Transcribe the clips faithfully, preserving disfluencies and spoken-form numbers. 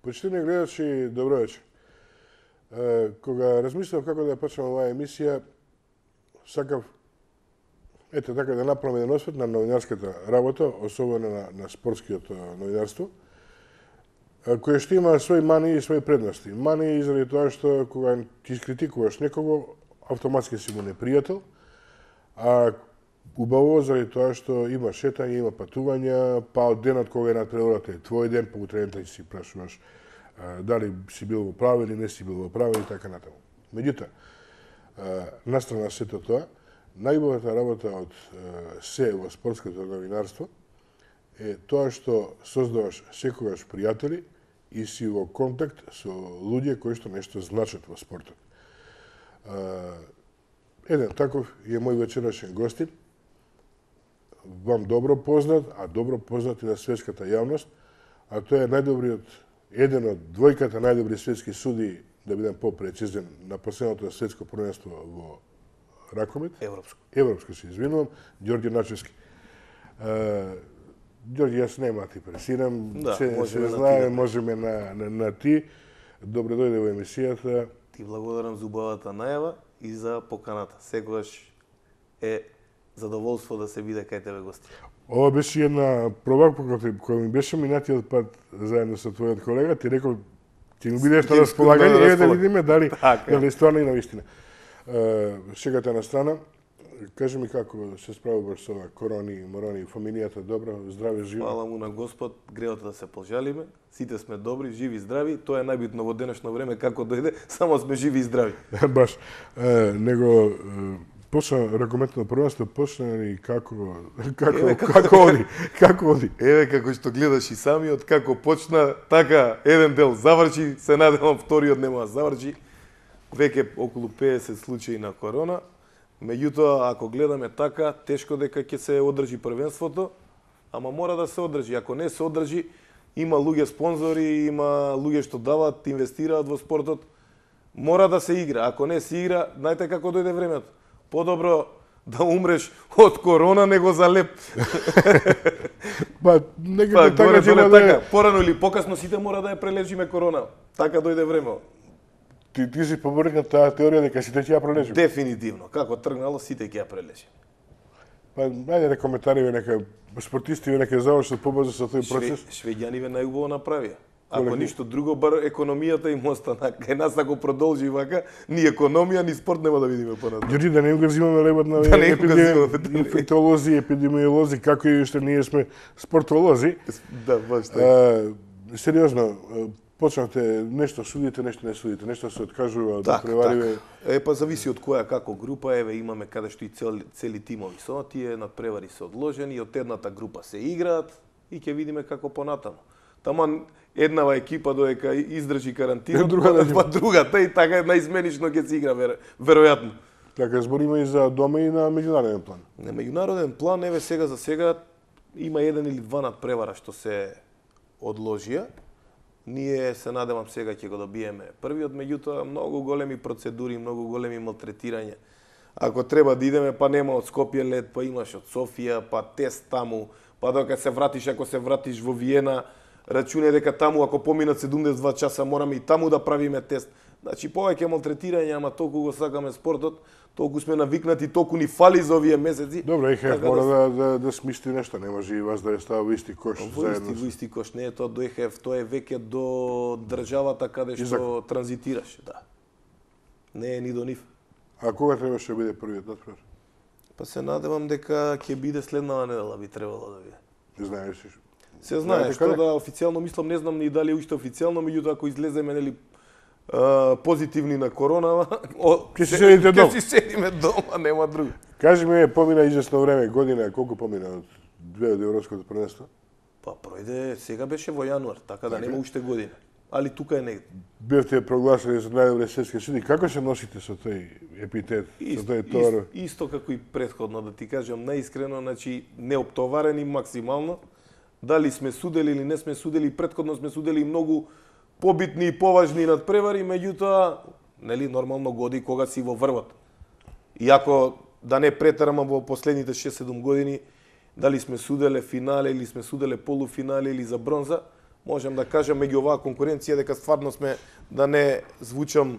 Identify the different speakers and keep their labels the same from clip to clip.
Speaker 1: Почитувани гледачи, добро вечер. Кога размислав како да почнем оваа емисија, сакав ете така да направам еден освет на новинарската работа, особено на, на спортскиот новинарство, кое што има своји мани и своји предности. Мани заради тоа што кога ти искритикуваш некого, автоматски си му непријател, а убаво заради тоа што има шетање, има патувања, па од денот кога е надпреварата е твој ден, па утре да си прашуваш дали си бил во право или не си бил во право и така натаму. Меѓутоа, настрана сето тоа, најубавата работа од се во спортското новинарство е тоа што создаваш секогаш пријатели и си во контакт со луѓе кои што нешто значат во спортот. Еден таков е мој вечерашен гостин, вам добро познат, а добро познат и на светската јавност, а тоа е најдобриот, еден од двојката најдобри светски суди, да бидам попрецизен, на последното светско првенство во ракомет.
Speaker 2: Европско.
Speaker 1: Европско се извинувам, Ѓорѓе Начевски. Ѓорѓе, јас нема ти пресирам,
Speaker 2: Да,
Speaker 1: се, се знае, можеме на, на, на ти. Добре дојде во емисијата.
Speaker 2: Ти благодарам за убавата најава и за поканата. Секогаш е задоволство да се биде кај тебе гости.
Speaker 1: Ова беше една проба која ми беше минатиот пат заедно со твојот колега, ти рекол ти ми бидеш на располагање, еве да видиме дали дали стварно и навистина. Шегата на страна, кажи ми како се справуваш со ова корони, морони, фамилијата добро, здраве, живо?
Speaker 2: Фала му на Господ, греот да се пожалиме. Сите сме добри, живи и здрави. Тоа е најбитно во денешно време како дојде, само сме живи и здрави.
Speaker 1: Баш. Него почна ракометно првенство, почна и како како
Speaker 2: Еве,
Speaker 1: како оди? Како оди?
Speaker 2: Еве како што гледаш и самиот како почна, така еден дел заврши, се надевам вториот нема да заврши. Веќе околу педесет случаи на корона. Меѓутоа, ако гледаме така, тешко дека ќе се одржи првенството, ама мора да се одржи. Ако не се одржи, има луѓе спонзори, има луѓе што дават, инвестираат во спортот. Мора да се игра. Ако не се игра, знаете како дојде времето. Подобро да умреш од корона него за леп.
Speaker 1: Па, некако
Speaker 2: Па,
Speaker 1: така
Speaker 2: горе
Speaker 1: ќе
Speaker 2: доле
Speaker 1: да е.
Speaker 2: така. Порано или покасно сите мора да ја прележиме корона. Така дојде време.
Speaker 1: Ти, ти си поборник на таа теорија дека сите ќе ја прележиме.
Speaker 2: Дефинитивно. Како тргнало, сите ќе ја прележиме.
Speaker 1: Па, ајде на коментари, нека спортисти нека завршат побрзо со тој процес.
Speaker 2: Швеѓаниве најубаво направија. Ако
Speaker 1: Коле,
Speaker 2: ништо друго, бар економијата им остана. Кај нас ако продолжи вака, ни економија, ни спорт нема да видиме понатаму.
Speaker 1: Ѓорѓе, да не им го взимаме лебот на
Speaker 2: Да не им го взимаме, да.
Speaker 1: инфектолози, епидемиолози, како и што ние сме спортолози.
Speaker 2: Да, баш така.
Speaker 1: А, сериозно, почнавте нешто судите, нешто не судите, нешто се откажува да превариве.
Speaker 2: Е, па зависи од која како група, еве имаме каде што и цели, цели тимови со тие надпревари се одложени, од едната група се играат и ќе видиме како понатаму. Таман еднава екипа додека издржи карантина,
Speaker 1: Другата
Speaker 2: па другата и така наизменично ќе се игра вер, веројатно.
Speaker 1: Така збориме и за дома и на меѓународен план.
Speaker 2: На меѓународен план, еве сега за сега има еден или два надпревара што се одложија. Ние се надевам сега ќе го добиеме првиот, меѓутоа многу големи процедури, многу големи малтретирања. Ако треба да идеме, па нема од Скопје лет, па имаш од Софија, па тест таму, па докато се вратиш, ако се вратиш во Виена, рачуне дека таму ако поминат седумдесет и два часа мораме и таму да правиме тест. Значи повеќе малтретирање, ама толку го сакаме спортот, толку сме навикнати, толку ни фали за овие месеци.
Speaker 1: Добро, ЕХФ
Speaker 2: така
Speaker 1: мора да, да, да смисли нешто, не може и вас да ја става во исти кош
Speaker 2: Во исти,
Speaker 1: заедно.
Speaker 2: во исти кош, не е тоа до ЕХФ, тоа е веќе до државата каде што
Speaker 1: Изак.
Speaker 2: транзитираш, да. Не е ни до нив.
Speaker 1: А кога требаше да биде првиот надпревар?
Speaker 2: Па се надевам дека ќе биде следнава недела, би требало да биде.
Speaker 1: Не знаеш ли?
Speaker 2: Се знае,
Speaker 1: Знаете
Speaker 2: што
Speaker 1: каде?
Speaker 2: да официјално мислам, не знам ни дали е уште официјално, меѓутоа ако излеземе нели а, позитивни на корона, о,
Speaker 1: Ќе си седите дома.
Speaker 2: Ќе си седиме дома, нема друго.
Speaker 1: Кажи ми, помина известно време, година, колку помина од две од европското првенство?
Speaker 2: Па пројде, сега беше во јануар, така да нема уште година. Али тука е негде.
Speaker 1: Бевте прогласени за најдобри светски суди. Како се носите со тој епитет, со тој товар?
Speaker 2: Исто, исто како и претходно, да ти кажам наискрено, значи неоптоварени максимално. Дали сме судели или не сме судели, претходно сме судели многу побитни и поважни надпревари, меѓутоа, нели нормално годи кога си во врвот. Иако да не претерам во последните шест седум години, дали сме суделе финале или сме суделе полуфинале или за бронза, можам да кажам меѓу оваа конкуренција дека стварно сме, да не звучам е,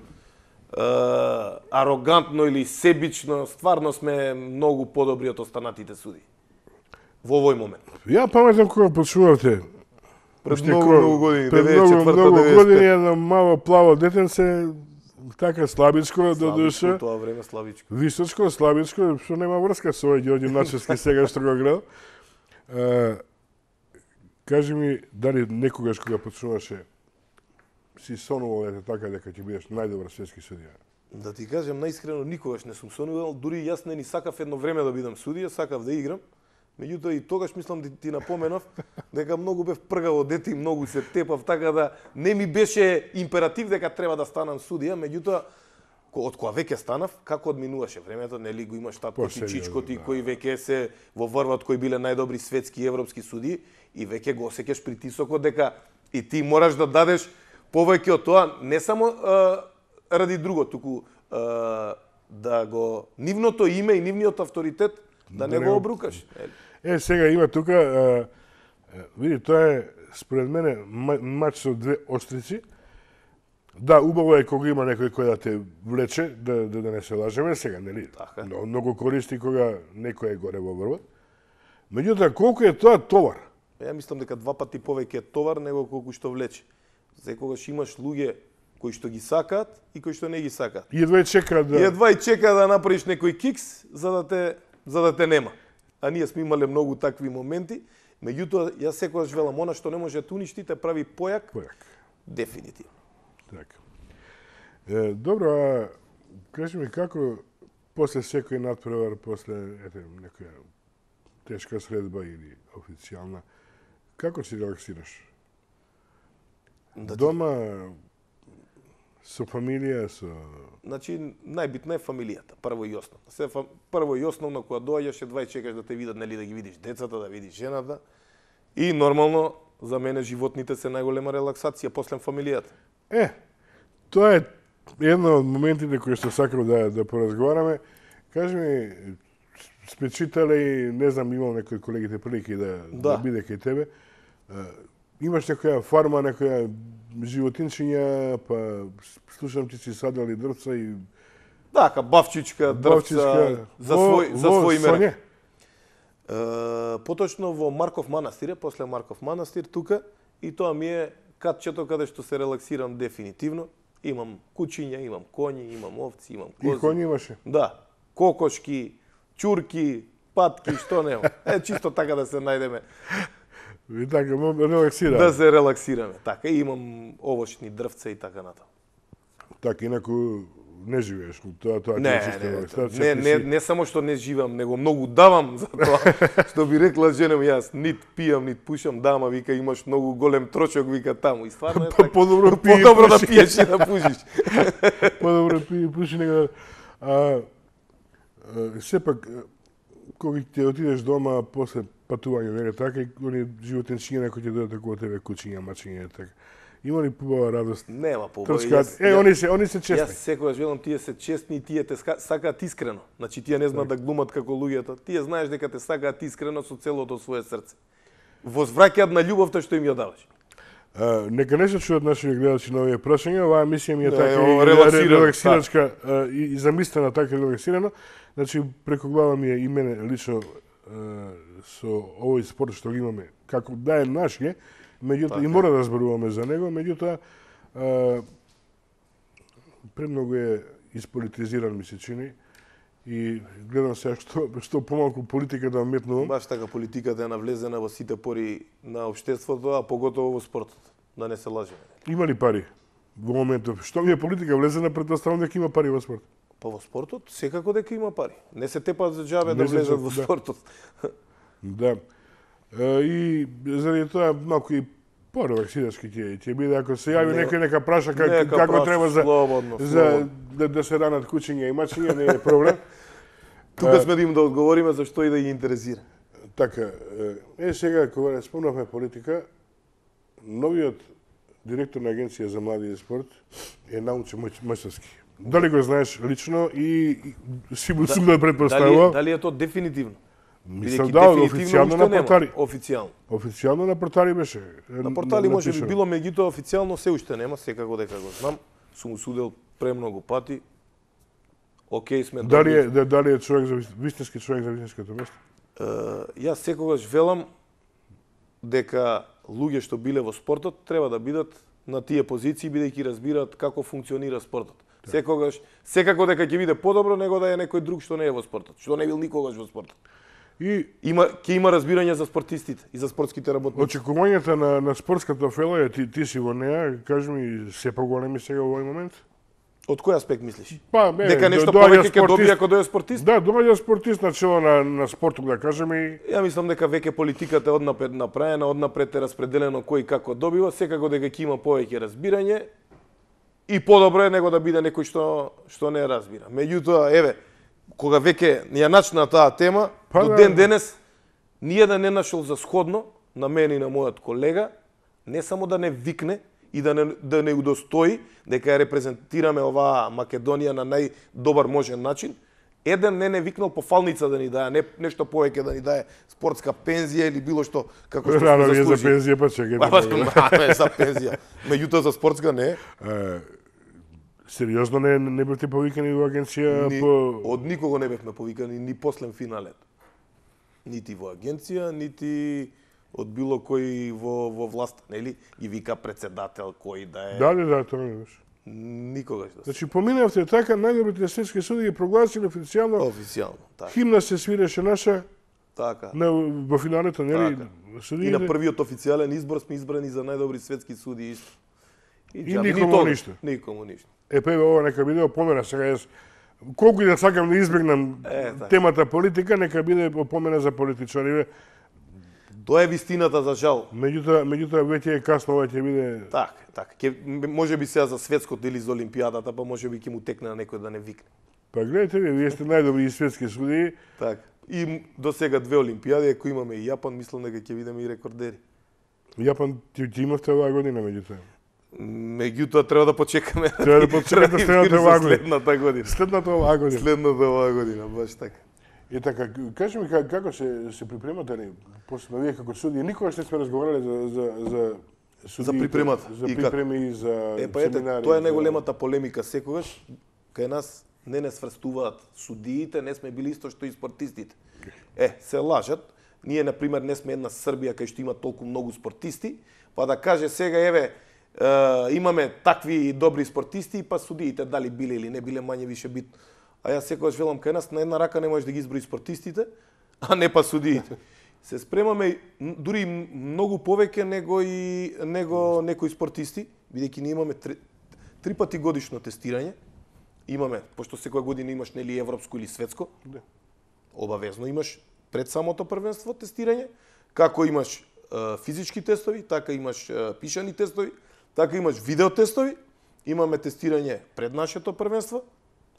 Speaker 2: арогантно или себично, стварно сме многу подобри од останатите суди. Во овој момент.
Speaker 1: Ја паметам кога почнувавте.
Speaker 2: Пред многу, многу години,
Speaker 1: пред многу, многу години, едно мало плаво детенце, така слабичко, до душа.
Speaker 2: Во тоа време слабичко.
Speaker 1: Височко, слабичко, што нема врска со овој Ѓорѓе Начевски сега што го гледам. Uh, кажи ми, дали некогаш кога почнуваше си сонувал ете така дека ќе бидеш најдобар светски судија?
Speaker 2: Да ти кажам најискрено, никогаш не сум сонувал, дури јас не ни сакав едно време да бидам судија, сакав да играм. Меѓутоа и тогаш мислам да ти напоменав дека многу бев пргаво дете и многу се тепав, така да не ми беше императив дека треба да станам судија, меѓутоа од кога веќе станав, како одминуваше времето, нели го имаш татко ти, чичко ти, кои веќе се во врвот, кои биле најдобри светски и европски судии, и веќе го осеќаш притисокот дека и ти мораш да дадеш повеќе од тоа, не само а, ради друго, туку а, да го нивното име и нивниот авторитет да, да не го обрукаш.
Speaker 1: Е, сега има тука, а, види, тоа е според мене мач со две острици. Да, убаво е кога има некој кој да те влече, да, да, да не се лажеме сега, нели?
Speaker 2: Така.
Speaker 1: Но, многу користи кога некој е горе во врвот. Меѓутоа, колку е тоа товар?
Speaker 2: Ја мислам дека два пати повеќе е товар него колку што влече. Секогаш имаш луѓе кои што ги сакаат и кои што не ги сакаат.
Speaker 1: И едва чека да...
Speaker 2: И едва и чека да направиш некој кикс за да те, за да те нема. А ние сме имале многу такви моменти. Меѓутоа, јас секогаш велам, она што не може да уништи, те прави појак.
Speaker 1: Појак.
Speaker 2: Дефинитивно.
Speaker 1: Така. Е, добро, а кажи ми како после секој надпревар, после ете, некоја тешка средба или официјална, како си релаксираш? Да ти... Дома, со фамилија, со...
Speaker 2: Значи, најбитна е фамилијата, прво и основно. Се фам... Прво и основно, кога доаѓаш, едва и чекаш да те видат, нели, да ги видиш децата, да видиш жената. И нормално, за мене животните се најголема релаксација после фамилијата.
Speaker 1: Е, тоа е едно од моментите кои што сакам да, да поразговараме. Кажи ми, сме читале, не знам, имал некои колегите прилики да, да. да биде кај тебе. Имаш некоја фарма, некоја животинчиња, па слушам ти си садали дрвца и...
Speaker 2: Така, бавчичка, дрвца, за свој, за свој мере. Uh, поточно во Марков манастир, после Марков манастир, тука, и тоа ми е катчето каде што се релаксирам дефинитивно. Имам кучиња, имам коњи, имам овци, имам кози.
Speaker 1: И коњи имаше?
Speaker 2: Да. Кокошки, чурки, патки, што нема. Е, чисто така да се најдеме.
Speaker 1: И така, релаксираме.
Speaker 2: Да се релаксираме. Така, и имам овошни дрвца и така натаму.
Speaker 1: Така, инаку не живееш, тоа тоа
Speaker 2: не,
Speaker 1: е чиста
Speaker 2: не,
Speaker 1: релаксација.
Speaker 2: Не, не, не само што не живам, него многу давам за тоа. Што би рекла жена ми, јас нит пијам, нит пушам, дама вика имаш многу голем трошок вика таму и стварно е така.
Speaker 1: Подобро пие,
Speaker 2: подобро да пиеш и да пушиш.
Speaker 1: Подобро пие и пуши него. А, а сепак кога ќе отидеш дома после патување, нели така, и они животинчиња кои ќе дојдат околу тебе, кучиња, мачиња, така. Има ли побава радост?
Speaker 2: Нема побава.
Speaker 1: Јас, е, они се, они се честни.
Speaker 2: Јас секогаш велам тие се честни и тие те сакаат искрено. Значи тие не знаат да глумат како луѓето. Тие знаеш дека те сакаат искрено со целото свое срце. Возвраќаат на љубовта што им ја даваш.
Speaker 1: А, нека не се чуат нашите гледачи на овие прашања, оваа емисија ми е
Speaker 2: да,
Speaker 1: така
Speaker 2: е,
Speaker 1: и
Speaker 2: релаксиран,
Speaker 1: релаксирачка а, и, и замислена така релаксирано. Значи преку глава ми е и мене лично а, со овој спорт што го имаме, како да е наш е, меѓутоа и мора да зборуваме за него, меѓутоа премногу е исполитизиран ми се чини и гледам сега што што помалку политика да метнувам.
Speaker 2: Баш така политиката е навлезена во сите пори на општеството, а поготово во спортот. Да не се лажеме.
Speaker 1: Има ли пари во моментов? Што ми е политика влезена, претпоставувам дека има пари во спорт.
Speaker 2: Па во спортот секако дека има пари. Не се тепат за џабе да влезат во спортот.
Speaker 1: Да. И заради тоа малку и порелаксирачки ќе ќе биде ако се јави некој нека праша как,
Speaker 2: нека
Speaker 1: како
Speaker 2: праша,
Speaker 1: треба за
Speaker 2: слободно,
Speaker 1: за
Speaker 2: слободно.
Speaker 1: да, да се ранат кучиња и мачиња, не е проблем.
Speaker 2: Тука сме да им да одговориме за што и да ги интересира.
Speaker 1: Така, е сега кога спомнавме политика, новиот директор на Агенција за млади и спорт е Наумче Мајстовски. Дали го знаеш лично и, и си му сум да предпоставувам?
Speaker 2: Дали, дали е тоа дефинитивно?
Speaker 1: Мислам
Speaker 2: Бидејќи
Speaker 1: да,
Speaker 2: дефинитивно
Speaker 1: официјално
Speaker 2: уште
Speaker 1: на
Speaker 2: нема.
Speaker 1: портали.
Speaker 2: Официјално.
Speaker 1: Официјално на портали беше.
Speaker 2: На портали може би
Speaker 1: напишано.
Speaker 2: било, меѓутоа официјално се уште нема, секако дека го знам. Сум му судел премногу пати. Океј сме
Speaker 1: Дали
Speaker 2: добри.
Speaker 1: е да- дали е човек за вис- вистински човек за вистинското место?
Speaker 2: Е, Јас секогаш велам дека луѓе што биле во спортот треба да бидат на тие позиции бидејќи разбираат како функционира спортот. Секогаш, секако дека ќе биде подобро него да е некој друг што не е во спортот, што не бил никогаш во спортот.
Speaker 1: И
Speaker 2: Има ќе има разбирање за спортистите и за спортските работници.
Speaker 1: очекувањата на, на спортската фела е, ти, ти си во неа, кажи ми, се поголеми сега во овој момент?
Speaker 2: Од кој аспект мислиш?
Speaker 1: Па, не,
Speaker 2: Дека нешто
Speaker 1: доаѓа
Speaker 2: повеќе ќе
Speaker 1: спортист-
Speaker 2: добие ако дојде спортист?
Speaker 1: Да, доаѓа спортист на чело на, на спортот, да кажеме, и
Speaker 2: Ја мислам дека веќе политиката е однапред направена, однапред е распределено кој како добива, секако дека ќе има повеќе разбирање и подобро е него да биде некој што што не разбира. Меѓутоа, еве, кога веќе ја начна таа тема,
Speaker 1: Па
Speaker 2: до
Speaker 1: да.
Speaker 2: ден денес ниеден не нашол за сходно на мене и на мојот колега не само да не викне и да не да не удостои дека ја репрезентираме оваа Македонија на најдобар можен начин. Еден не не викнал по фалница да ни даде, не нешто повеќе да ни даде спортска пензија или било што како што
Speaker 1: рано
Speaker 2: сме
Speaker 1: ви е за
Speaker 2: заслужили.
Speaker 1: пензија, па чекајте.
Speaker 2: Па, па, па, за пензија. Меѓутоа за спортска не.
Speaker 1: Е, сериозно не, не бевте повикани во агенција
Speaker 2: Ни,
Speaker 1: по...
Speaker 2: од никого не бевме повикани ни послен финалет. Нити во агенција, нити од било кој во во власта, нели? Ги вика председател кој да е.
Speaker 1: Да, да, да, тоа не беше.
Speaker 2: Никогаш да се.
Speaker 1: Значи, поминавте така, најдобрите светски суди ги прогласили официјално,
Speaker 2: Официјално, така.
Speaker 1: химна се свиреше наша
Speaker 2: Така.
Speaker 1: на, во финалето, нели?
Speaker 2: Така. И на
Speaker 1: Судиите,
Speaker 2: првиот официјален избор сме избрани за најдобри светски суди исто.
Speaker 1: И
Speaker 2: џаби,
Speaker 1: никому
Speaker 2: тогаш,
Speaker 1: ништо.
Speaker 2: Никому ништо.
Speaker 1: е, пе, ова нека биде опомена сега, јас колку и да сакам да избегнам
Speaker 2: Е, така.
Speaker 1: темата политика, нека биде опомена за политичари.
Speaker 2: Тоа е вистината за жал.
Speaker 1: Меѓутоа, меѓутоа веќе е касно, ова ќе биде...
Speaker 2: Така, така. Ке, може би сега за светското или за олимпијадата, па може би ќе му текне на некој да не викне.
Speaker 1: Па гледате ви, вие сте најдобри и светски судии.
Speaker 2: Така. И м- до сега две олимпијади, ако имаме и Јапан, мислам дека ќе видиме и рекордери.
Speaker 1: Јапан, ти, ти имавте оваа година, меѓутоа.
Speaker 2: Меѓутоа треба да почекаме.
Speaker 1: Треба да почекате следната оваа година.
Speaker 2: Следната година.
Speaker 1: Следната оваа година.
Speaker 2: Следната оваа година, баш така.
Speaker 1: И така, кажи ми как- како се се припремате ли? После вие како судии, никогаш не сме разговарале за за за судиите,
Speaker 2: За припремата.
Speaker 1: за
Speaker 2: И како?
Speaker 1: припреми и за
Speaker 2: Е, па ете,
Speaker 1: семинари.
Speaker 2: тоа е
Speaker 1: за-
Speaker 2: најголемата полемика секогаш. Кај нас не не сврстуваат судиите, не сме били исто што и спортистите. Е, се лажат. Ние, на пример, не сме една Србија кај што има толку многу спортисти, па да каже сега, еве, е, имаме такви добри спортисти, па судиите дали биле или не биле мање више бит. А јас секогаш велам, кај нас на една рака не можеш да ги изброи спортистите, а не па судиите. Се спремаме м, дури м- многу повеќе него и него некои спортисти, бидејќи ние имаме три, три пати годишно тестирање. Имаме, пошто секоја година имаш нели европско или светско,
Speaker 1: Да.
Speaker 2: обавезно имаш пред самото првенство тестирање, како имаш е, физички тестови, така имаш е, пишани тестови, така имаш видео тестови, имаме тестирање пред нашето првенство,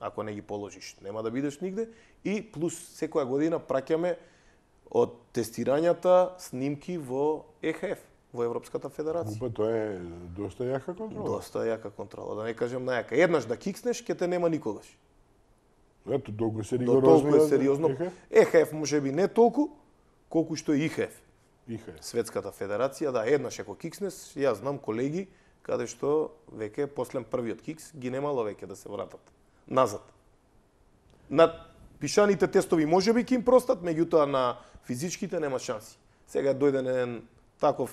Speaker 2: ако не ги положиш, нема да бидеш нигде, и плюс секоја година праќаме од тестирањата снимки во Е Х Ф, во Европската федерација.
Speaker 1: Па тоа е доста јака контрола.
Speaker 2: Доста јака контрола, да не кажем најака. Еднаш да кикснеш, ќе те нема никогаш.
Speaker 1: Ето, толку се
Speaker 2: До
Speaker 1: ригорозно.
Speaker 2: толку е сериозно.
Speaker 1: Еха?
Speaker 2: Е Х Ф може би не толку, колку што е И Х Ф.
Speaker 1: Иха.
Speaker 2: Светската федерација, да, еднаш ако кикснеш, јас знам колеги каде што веќе после првиот кикс ги немало веќе да се вратат назад. На пишаните тестови може би ќе им простат, меѓутоа на физичките нема шанси. Сега дојде еден таков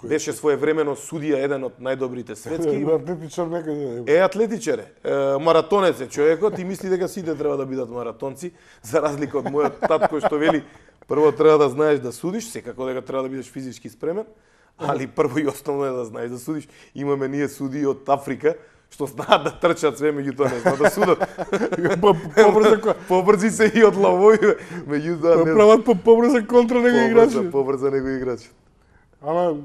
Speaker 2: беше своевремено судија, еден од најдобрите светски.
Speaker 1: Атлетичар некаде.
Speaker 2: Е, атлетичар е. Е, маратонец е човекот и мисли дека сите треба да бидат маратонци, за разлика од мојот татко што вели прво треба да знаеш да судиш, секако дека треба да бидеш физички спремен, али прво и основно е да знаеш да судиш. Имаме ние судии од Африка што знаат да трчат све, меѓутоа не знаат да судат.
Speaker 1: Побрза
Speaker 2: Побрзи се и од лавови, меѓутоа не
Speaker 1: прават по побрза контра него играчи.
Speaker 2: побрза, побрза него играч.
Speaker 1: Ама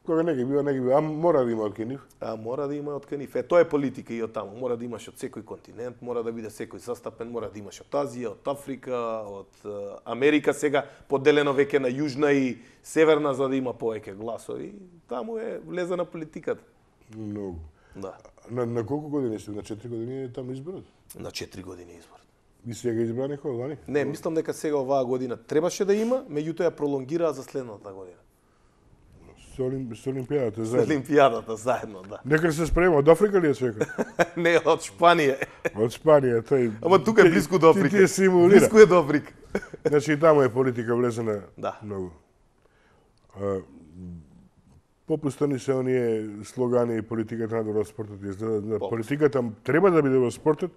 Speaker 1: кога не ги бива, не ги бива, а мора да има од нив.
Speaker 2: А мора да има од кај нив. Е, тоа е политика и од таму. Мора да имаш од секој континент, мора да биде секој застапен, мора да имаш од Азија, од Африка, од е, Америка сега поделено веќе на јужна и северна за да има повеќе гласови. Таму е влезена политиката.
Speaker 1: Многу.
Speaker 2: Да.
Speaker 1: На, на колку години сте? На четири години е таму изборот?
Speaker 2: На четири години избор.
Speaker 1: И сега избрани кој лани?
Speaker 2: Не, мислам дека сега оваа година требаше да има, меѓутоа ја пролонгираа за следната година.
Speaker 1: Со, олим, со Олимпијадата
Speaker 2: За
Speaker 1: заедно.
Speaker 2: Олимпијадата заедно, да.
Speaker 1: Нека се спрема, од Африка ли е човека?
Speaker 2: Не, од Шпанија.
Speaker 1: Од Спанија, тој...
Speaker 2: Ама тука е близко до
Speaker 1: Ти,
Speaker 2: Африка.
Speaker 1: ти симулира.
Speaker 2: Близко е до Африка.
Speaker 1: Значи и таму е политика влезена
Speaker 2: Да.
Speaker 1: многу. А, попустани се оние слогани и политиката надвор од спортот. Изгледа, да, политиката треба да биде во спортот,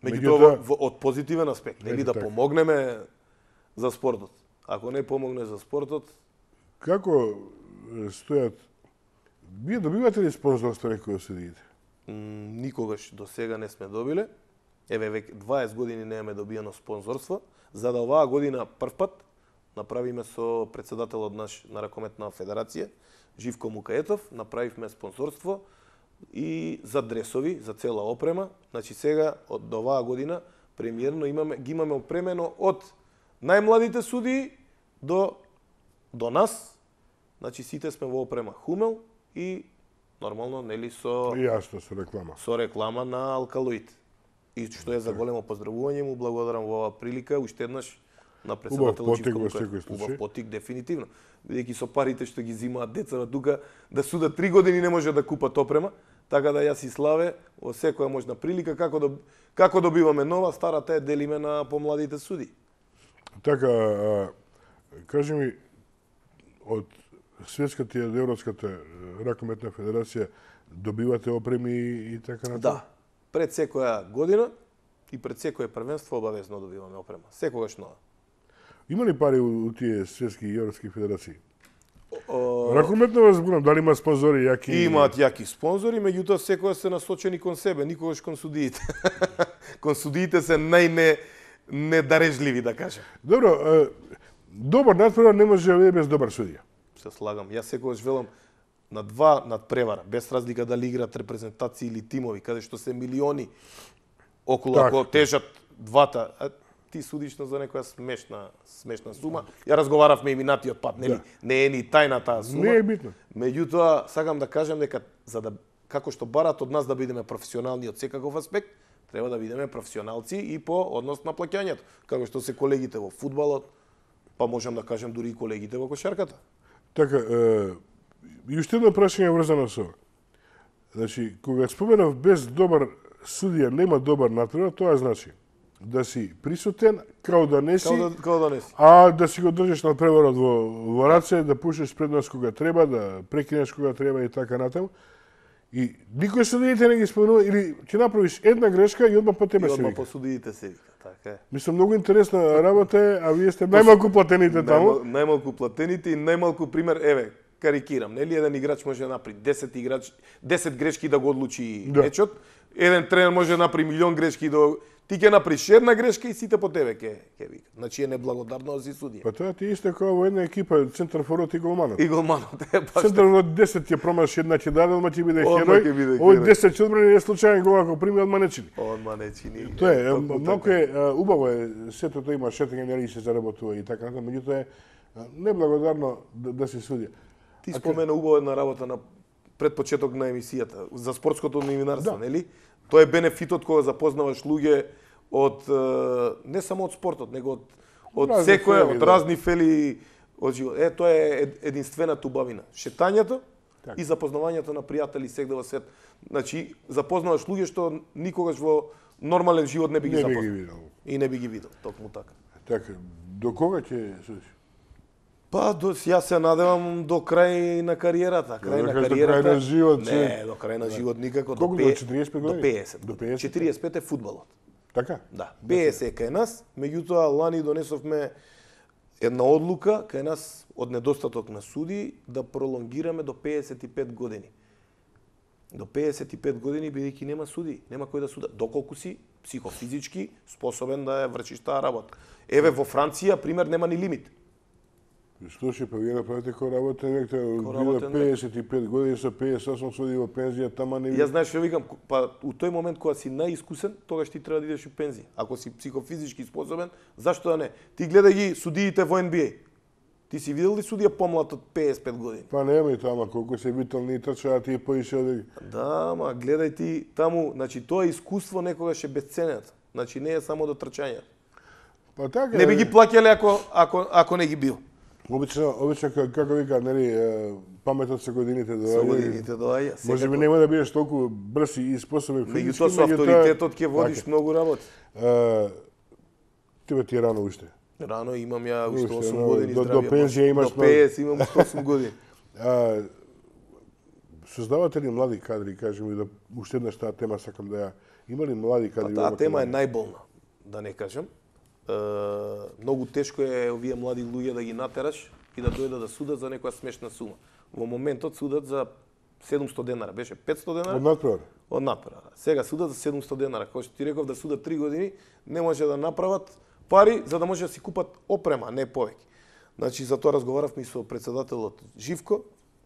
Speaker 2: Меѓутоа, во- од позитивен аспект, нели
Speaker 1: Ето
Speaker 2: да
Speaker 1: така.
Speaker 2: помогнеме за спортот. Ако не помогне за спортот,
Speaker 1: како е, стојат... Вие добивате ли спонзорство некој од судиите?
Speaker 2: м, никогаш до сега не сме добиле. Еве веќе дваесет години немаме добиено спонзорство, за да оваа година прв пат направиме со претседателот наш на Ракометна федерација, Живко Мукаетов, направивме спонзорство и за дресови, за цела опрема. Значи сега од до оваа година премиерно имаме ги имаме опремено од најмладите судии до до нас. Значи сите сме во опрема Хумел и нормално нели со
Speaker 1: И јасно со реклама.
Speaker 2: со реклама на Алкалоид. И што е за големо поздравување, му благодарам во оваа прилика уште еднаш на председателот
Speaker 1: потик
Speaker 2: Живко
Speaker 1: во
Speaker 2: Мукаетов.
Speaker 1: секој случај.
Speaker 2: Убав потик дефинитивно. Бидејќи со парите што ги зимаат децата тука, да судат три години не може да купат опрема, така да јас и Славе во секоја можна прилика како да како добиваме нова, старата е делиме на помладите суди.
Speaker 1: Така, а, кажи ми, од Светската и од Европската ракометна федерација добивате опреми и така натаму?
Speaker 2: Да. Пред секоја година и пред секое првенство обавезно добиваме опрема. Секогаш нова.
Speaker 1: Има ли пари у, у тие светски и европски федерации?
Speaker 2: О,
Speaker 1: Ракометно вас зборам, дали има спонзори јаки?
Speaker 2: Имаат јаки спонзори, меѓутоа секоја се насочени кон себе, никогаш кон судиите. Кон судиите се најне недарежливи, да кажем.
Speaker 1: Добро, е, добар надпревар не може да биде без добар судија.
Speaker 2: Се слагам. Јас секогаш велам на два надпревара, без разлика дали играат репрезентации или тимови, каде што се милиони околу,
Speaker 1: Така.
Speaker 2: ако тежат двата, а ти судиш на за некоја смешна смешна сума. Ја разговаравме и минатиот пат, нели?
Speaker 1: Да.
Speaker 2: Не е ни тајна таа сума.
Speaker 1: Не е битно.
Speaker 2: Меѓутоа, сакам да кажем дека за да како што барат од нас да бидеме професионални од секаков аспект, треба да бидеме професионалци и по однос на плаќањето, како што се колегите во фудбалот, па можам да кажем дури и колегите во кошарката.
Speaker 1: Така, е, и уште едно прашање врзано со ова. Значи, кога споменав без добар судија нема добар надпревар, тоа значи да си присутен, као да не си,
Speaker 2: Као да, као да не си.
Speaker 1: а да си го држиш надпреварот во, во раце, да пушиш предност кога треба, да прекинеш кога треба и така натаму. И никој судиите не ги спомнува, или ќе направиш една грешка и одма по тебе
Speaker 2: И
Speaker 1: се
Speaker 2: одма
Speaker 1: вика.
Speaker 2: по судиите се вика, така е.
Speaker 1: Мислам, многу интересна работа е, а вие сте најмалку платените таму.
Speaker 2: Најмал, најмалку платените и најмалку пример, еве, карикирам, нели еден играч може да направи десет играч, десет грешки да го одлучи
Speaker 1: Да.
Speaker 2: мечот, еден тренер може да направи милион грешки да ти ќе направиш една грешка и сите по тебе ќе ќе вика. Значи е неблагодарно да си судија.
Speaker 1: Па тоа ти е исто како во една екипа, центар форот и голманот.
Speaker 2: И голманот е баш.
Speaker 1: Центар форот десет ќе промаш, една ќе даде, одма ќе биде
Speaker 2: Одма
Speaker 1: херој.
Speaker 2: ќе биде
Speaker 1: Овој
Speaker 2: херој.
Speaker 1: десет ќе одбрани, не случајен гол ако прими одма не чини.
Speaker 2: Одма не чини.
Speaker 1: Тоа е,
Speaker 2: Токму
Speaker 1: малку
Speaker 2: така.
Speaker 1: е, а, убаво е, сето тоа има шетање, нели се заработува и така натаму, меѓутоа е а, неблагодарно да, да се судија.
Speaker 2: Ти спомена убава една работа на пред почеток на емисијата за спортското новинарство,
Speaker 1: Да.
Speaker 2: нели? Тоа е бенефитот кога запознаваш луѓе од е, не само од спортот, него од од
Speaker 1: Разни
Speaker 2: секоја,
Speaker 1: фели,
Speaker 2: од
Speaker 1: да.
Speaker 2: разни фели од живот. Е, тоа е ед- единствената убавина. Шетањето
Speaker 1: Така.
Speaker 2: и запознавањето на пријатели сегде во свет. Значи, запознаваш луѓе што никогаш во нормален живот не би ги
Speaker 1: Не би ги
Speaker 2: запознал.
Speaker 1: видел.
Speaker 2: И не би ги видел, токму така.
Speaker 1: Така, до кога ќе судиш?
Speaker 2: Па, до, јас се надевам до крај на кариерата. Крај
Speaker 1: Да
Speaker 2: на
Speaker 1: кажеш до
Speaker 2: кариерата.
Speaker 1: крај на живот,
Speaker 2: Не,
Speaker 1: че-
Speaker 2: до крај на живот никако.
Speaker 1: Колку
Speaker 2: до
Speaker 1: до
Speaker 2: пе-
Speaker 1: четириесет пет
Speaker 2: До
Speaker 1: години?
Speaker 2: пеесет.
Speaker 1: До пеесет?
Speaker 2: четириесет пет е фудбалот.
Speaker 1: Така?
Speaker 2: Да, пеесет е кај нас, меѓутоа лани донесовме една одлука кај нас од недостаток на суди да пролонгираме до пеесет и пет години. До пеесет и пет години бидејќи нема суди, нема кој да суда, доколку си психофизички способен да ја вршиш таа работа. Еве во Франција пример нема ни лимит.
Speaker 1: Слушај, па вие направите кој работа век,
Speaker 2: Кој
Speaker 1: тоа
Speaker 2: работен век.
Speaker 1: пеесет и пет години со пеесет и осум суди во пензија, тама не
Speaker 2: Јас знаеш што викам, па у тој момент кога си најискусен, тогаш ти треба да идеш у пензија. Ако си психофизички способен, зашто да не? Ти гледај ги судиите во Н Б А. Ти си видел ли судија помлад од пеесет и пет години?
Speaker 1: Па нема и тама, колку се витални и трчаат и поише од...
Speaker 2: Да, ма гледај ти таму, значи тоа искуство некогаш е бесценето. Значи не е само до трчањето.
Speaker 1: Па така.
Speaker 2: Не би ги плаќале ако ако ако не ги бил.
Speaker 1: Обично, обично како вика, нели, паметот со годините доаѓа.
Speaker 2: Со годините доаѓа.
Speaker 1: Може би нема да бидеш толку брз и способен физички,
Speaker 2: меѓутоа со авторитетот ќе водиш многу работи.
Speaker 1: Тебе ти е рано уште.
Speaker 2: Рано имам ја уште
Speaker 1: Уште,
Speaker 2: осум
Speaker 1: но,
Speaker 2: години
Speaker 1: до-
Speaker 2: здравје.
Speaker 1: до пензија имаш
Speaker 2: до петдесет имам уште осум години.
Speaker 1: А, создавате ли млади кадри, кажем и да уште еднаш таа тема сакам да ја. Има ли млади
Speaker 2: Па
Speaker 1: кадри?
Speaker 2: таа
Speaker 1: во
Speaker 2: тема е
Speaker 1: Македонија?
Speaker 2: најболна, да не кажам. Е, многу тешко е овие млади луѓе да ги натераш и да дојдат да судат за некоја смешна сума. Во моментот судат за седумсто денара, беше петсто денара.
Speaker 1: Од надпревар.
Speaker 2: Од надпревара. Сега судат за седумсто денара. Кој што ти реков да судат три години, не може да направат пари за да може да си купат опрема, а не повеќе. Значи за тоа разговаравме и со председателот Живко,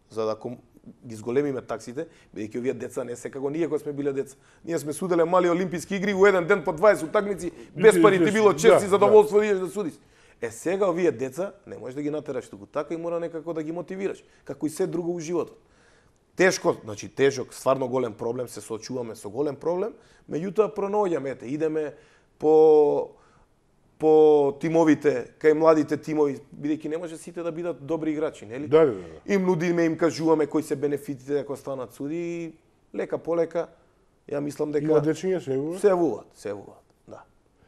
Speaker 2: за да ком... ги зголемиме таксите, бидејќи овие деца не се како ние кога сме биле деца. Ние сме суделе мали олимписки игри во еден ден по дваесет утакмици, без пари ти било чест и
Speaker 1: да,
Speaker 2: задоволство да идеш да судиш. Е сега овие деца не можеш да ги натераш туку така и мора некако да ги мотивираш, како и се друго во животот. Тешко, значи тежок, стварно голем проблем, се соочуваме со голем проблем, меѓутоа пронаоѓаме, ете, идеме по по тимовите, кај младите тимови, бидејќи не може сите да бидат добри играчи, нели?
Speaker 1: Да, да, да.
Speaker 2: Им нудиме, им кажуваме кои се бенефитите ако станат суди и лека полека, ја мислам дека
Speaker 1: Има дечиња се
Speaker 2: се вуваат, се вуваат, да.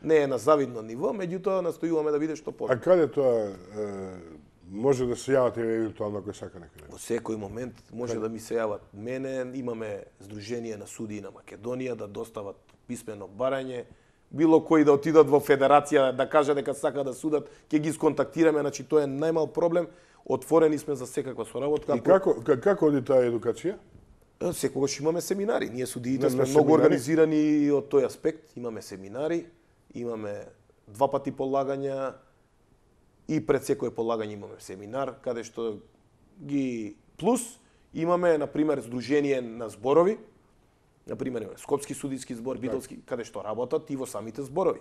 Speaker 2: Не е на завидно ниво, меѓутоа настојуваме да биде што
Speaker 1: А
Speaker 2: повеќе.
Speaker 1: каде тоа е, може да се јавате евентуално ако сака некаде?
Speaker 2: Во секој момент може да ми се јават мене, имаме Сдружение на судии на Македонија да достават писмено барање, било кои да отидат во федерација да кажа дека сака да судат, ќе ги сконтактираме, значи тоа е најмал проблем. Отворени сме за секаква соработка.
Speaker 1: И како ка- како оди таа едукација?
Speaker 2: Е, Секогаш имаме семинари. Ние судиите
Speaker 1: На-
Speaker 2: сме
Speaker 1: на
Speaker 2: многу
Speaker 1: семинари?
Speaker 2: организирани од тој аспект. Имаме семинари, имаме два пати полагања и пред секое полагање имаме семинар, каде што ги плюс имаме на пример Сдружение на зборови, на пример имаме Скопски судиски збор, Битолски, каде што работат и во самите зборови.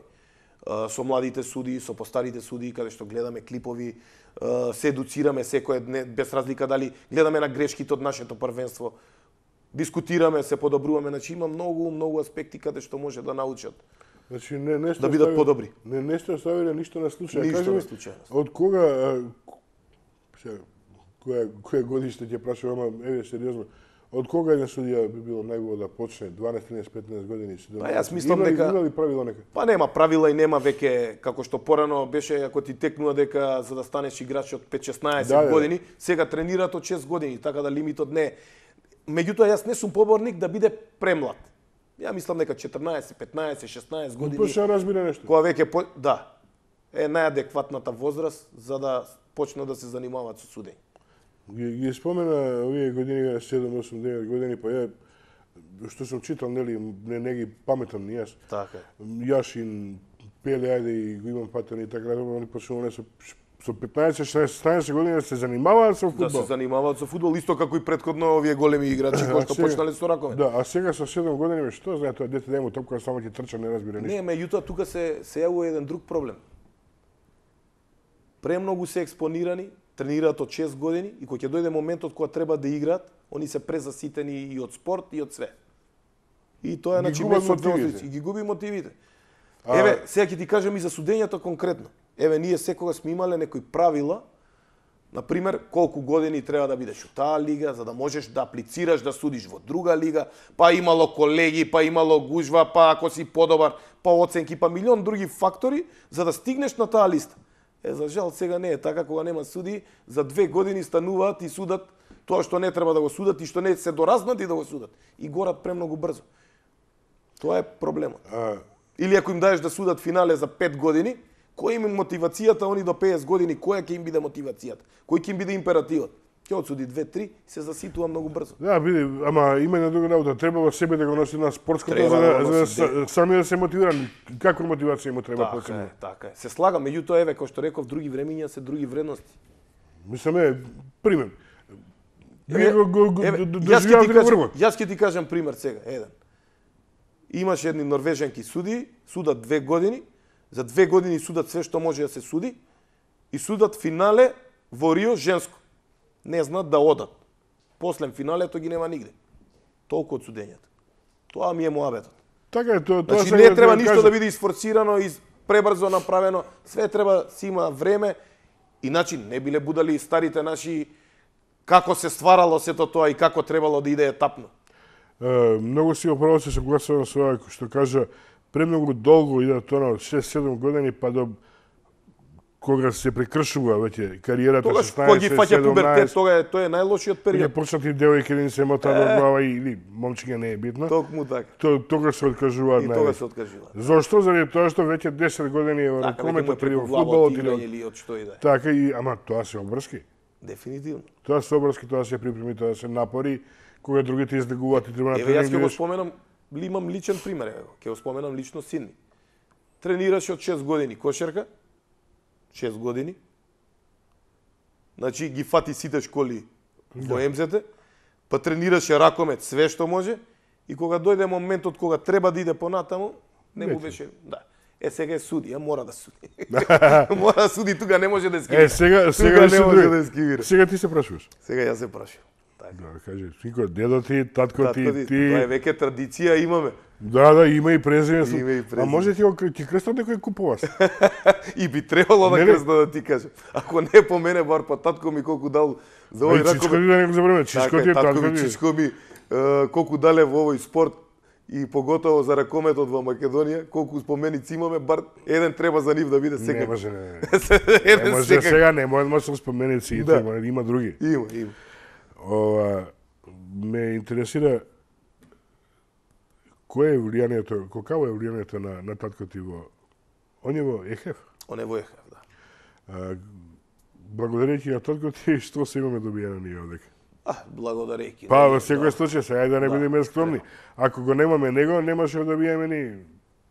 Speaker 2: А, со младите судии, со постарите судии, каде што гледаме клипови, а, се едуцираме секој ден, без разлика дали гледаме на грешките од нашето првенство, дискутираме, се подобруваме, значи има многу, многу аспекти каде што може да научат.
Speaker 1: Значи не не сте
Speaker 2: Да бидат
Speaker 1: оставили-
Speaker 2: подобри.
Speaker 1: Не не сте оставиле ништо на случај.
Speaker 2: Ништо
Speaker 1: Кажи
Speaker 2: на
Speaker 1: ми,
Speaker 2: случај.
Speaker 1: Од кога а, се која која годиште ќе прашувам, ама еве сериозно. Од кога еден судија би било најубаво да почне дванаесет, тринаесет, петнаесет години?
Speaker 2: Па јас мислам
Speaker 1: Има ли-
Speaker 2: дека-
Speaker 1: има ли правило нека?
Speaker 2: Па нема правила и нема веќе како што порано беше ако ти текнува дека за да станеш играч од пет-шеснаесет
Speaker 1: Да, да.
Speaker 2: години, сега тренираат од шест години, така да лимитот не е. Меѓутоа јас не сум поборник да биде премлад. Ја мислам дека четрнаесет, петнаесет, шеснаесет години
Speaker 1: Почна разбира нешто.
Speaker 2: кога веќе по... да е најадекватната возраст за да почнат да се занимаваат со судење.
Speaker 1: Ги, ги спомена овие години, седум, осум, девет години, па ја, што сум читал, нели, не, не ги паметам ни јас.
Speaker 2: Така е.
Speaker 1: Јашин, Пеле, ајде и го имам патен и така, они почнувале со, со петнаесет, шеснаесет години да се занимаваат со
Speaker 2: Да
Speaker 1: фудбал.
Speaker 2: се занимаваат со фудбал исто како и претходно овие големи играчи кои што
Speaker 1: сега-
Speaker 2: почнале со ракови.
Speaker 1: Да, а сега со седум години, бе, што знае тоа дете да му топка само ќе трча, не разбира ништо.
Speaker 2: Не, меѓутоа тука се се јавува еден друг проблем. Премногу се експонирани, тренираат од шест години и кога ќе дојде моментот кога треба да играат, они се презаситени и од спорт и од све. И тоа е
Speaker 1: Ги
Speaker 2: значи
Speaker 1: губат
Speaker 2: место
Speaker 1: мотивите.
Speaker 2: и ги губи мотивите.
Speaker 1: А-
Speaker 2: Еве, сега ќе ти кажам и за судењето конкретно. Еве, ние секогаш сме имале некои правила, на пример, колку години треба да бидеш у таа лига, за да можеш да аплицираш да судиш во друга лига, па имало колеги, па имало гужва, па ако си подобар, па оценки, па милион други фактори, за да стигнеш на таа листа. Е, за жал, сега не е така, кога нема суди, за две години стануваат и судат тоа што не треба да го судат и што не се доразнати да го судат. И горат премногу брзо. Тоа е проблемот.
Speaker 1: А,
Speaker 2: Или ако им даеш да судат финале за пет години, кој им е мотивацијата, они до петдесет години, која ќе им биде мотивацијата? Кој ќе им биде императивот? Ќе отсуди две-три и се заситува многу брзо.
Speaker 1: да, биде, ама има една друга работа. Треба во себе да го носи на спортското,
Speaker 2: Треба
Speaker 1: за
Speaker 2: да
Speaker 1: да,
Speaker 2: го
Speaker 1: за,
Speaker 2: носи,
Speaker 1: да, сами да се мотивиран. Каква мотивација му треба
Speaker 2: Така
Speaker 1: посебно?
Speaker 2: е, така е. Се слагам, меѓутоа еве кој што реков, други времиња се други вредности.
Speaker 1: Мислам е, пример.
Speaker 2: Еве,
Speaker 1: Вие го, го, го
Speaker 2: еве,
Speaker 1: д-
Speaker 2: јас ќе
Speaker 1: доживеавте
Speaker 2: ти
Speaker 1: на
Speaker 2: кажам,
Speaker 1: врвот.
Speaker 2: јас ќе ти кажам пример сега, еден. Имаше едни норвежанки судии, судат две години, за две години судат све што може да се суди и судат финале во Рио женско. Не знаат да одат. После финалето ги нема нигде. Толку од судењето. Тоа ми е муабетот.
Speaker 1: Така е, тоа тоа
Speaker 2: Значи
Speaker 1: сега
Speaker 2: не треба
Speaker 1: да
Speaker 2: ништо
Speaker 1: кажам.
Speaker 2: да биде isforcirано и пребрзо направено, све треба си има време. Иначе не биле будали старите наши како се стварало сето тоа и како требало да иде етапно.
Speaker 1: Е, многу си оправо се согласувам со ова што кажа, премногу долго иде тоа од шест-седум години па до кога се прекршува веќе кариерата
Speaker 2: Тогаш
Speaker 1: шеснаесет,
Speaker 2: кога ги фаќа пубертет,
Speaker 1: седумнаесет,
Speaker 2: тога е тоа е најлошиот
Speaker 1: Или
Speaker 2: период.
Speaker 1: почнати девојки да им се мотаат од глава или момчиња не е битно.
Speaker 2: Токму така.
Speaker 1: То, тогаш се откажуваат
Speaker 2: И
Speaker 1: највеќе.
Speaker 2: тога се откажува.
Speaker 1: Зошто? Заради тоа што веќе десет години е во
Speaker 2: Така, веќе му е
Speaker 1: ракометот или
Speaker 2: преку
Speaker 1: во
Speaker 2: глава
Speaker 1: фудбалот
Speaker 2: од
Speaker 1: или
Speaker 2: играње
Speaker 1: од-
Speaker 2: или од што и да е.
Speaker 1: така и ама тоа се обврски.
Speaker 2: Дефинитивно.
Speaker 1: Тоа се обврски, тоа се припреми, тоа се напори кога другите излегуваат и треба на
Speaker 2: Еве јас
Speaker 1: тренинг.
Speaker 2: ќе го
Speaker 1: идеш.
Speaker 2: споменам, ли имам личен пример, еве, ќе го споменам лично син ми. Тренираше од шест години кошерка, шест години. Значи ги фати сите школи во Ем Зет, па тренираше ракомет све што може и кога дојде моментот кога треба да иде понатаму, не му
Speaker 1: Веќе.
Speaker 2: беше, да. Е сега е судија, мора да суди. Мора да суди, тука не може да скивира.
Speaker 1: Е, сега,
Speaker 2: Тука
Speaker 1: сега
Speaker 2: не
Speaker 1: се
Speaker 2: може
Speaker 1: други.
Speaker 2: да скивира.
Speaker 1: Сега ти се прашуваш.
Speaker 2: Сега јас се прашувам. Така.
Speaker 1: Да, кажи, синко, дедо ти, татко ти,
Speaker 2: Татко ти,
Speaker 1: ти.
Speaker 2: Тоа е веќе традиција имаме.
Speaker 1: Да, да, има и презиме.
Speaker 2: Има и
Speaker 1: А
Speaker 2: презиме.
Speaker 1: може ти го ти крстат некој купуваш?
Speaker 2: И би требало да
Speaker 1: Не, не.
Speaker 2: крстна да ти кажам. Ако не по мене, бар па татко ми колку дал за овој
Speaker 1: Ај, чичко
Speaker 2: ракомет.
Speaker 1: ти да не го забраваме, чичко
Speaker 2: Така
Speaker 1: ти,
Speaker 2: е, татко
Speaker 1: татко
Speaker 2: ми,
Speaker 1: ти.
Speaker 2: чичко ми, е, колку дале во овој спорт и поготово за ракометот во Македонија, колку споменици имаме, бар еден треба за нив да биде
Speaker 1: Не
Speaker 2: секако.
Speaker 1: може, не, не. Не
Speaker 2: Еден
Speaker 1: може
Speaker 2: секако.
Speaker 1: сега, не може да се споменици и
Speaker 2: Да.
Speaker 1: тоа, има други.
Speaker 2: Има, има.
Speaker 1: Ова, ме интересира кое е влијанието, какво е влијанието на, на татко ти во он е во ЕХФ.
Speaker 2: Он е во ЕХФ, да.
Speaker 1: А, благодарејќи на татко ти, што се имаме добиено ние овдека?
Speaker 2: А, благодарејќи.
Speaker 1: Па,
Speaker 2: да,
Speaker 1: во секој
Speaker 2: да.
Speaker 1: случај, сега ајде да не
Speaker 2: Да,
Speaker 1: бидеме скромни. Ако го немаме него, немаше да добиеме ни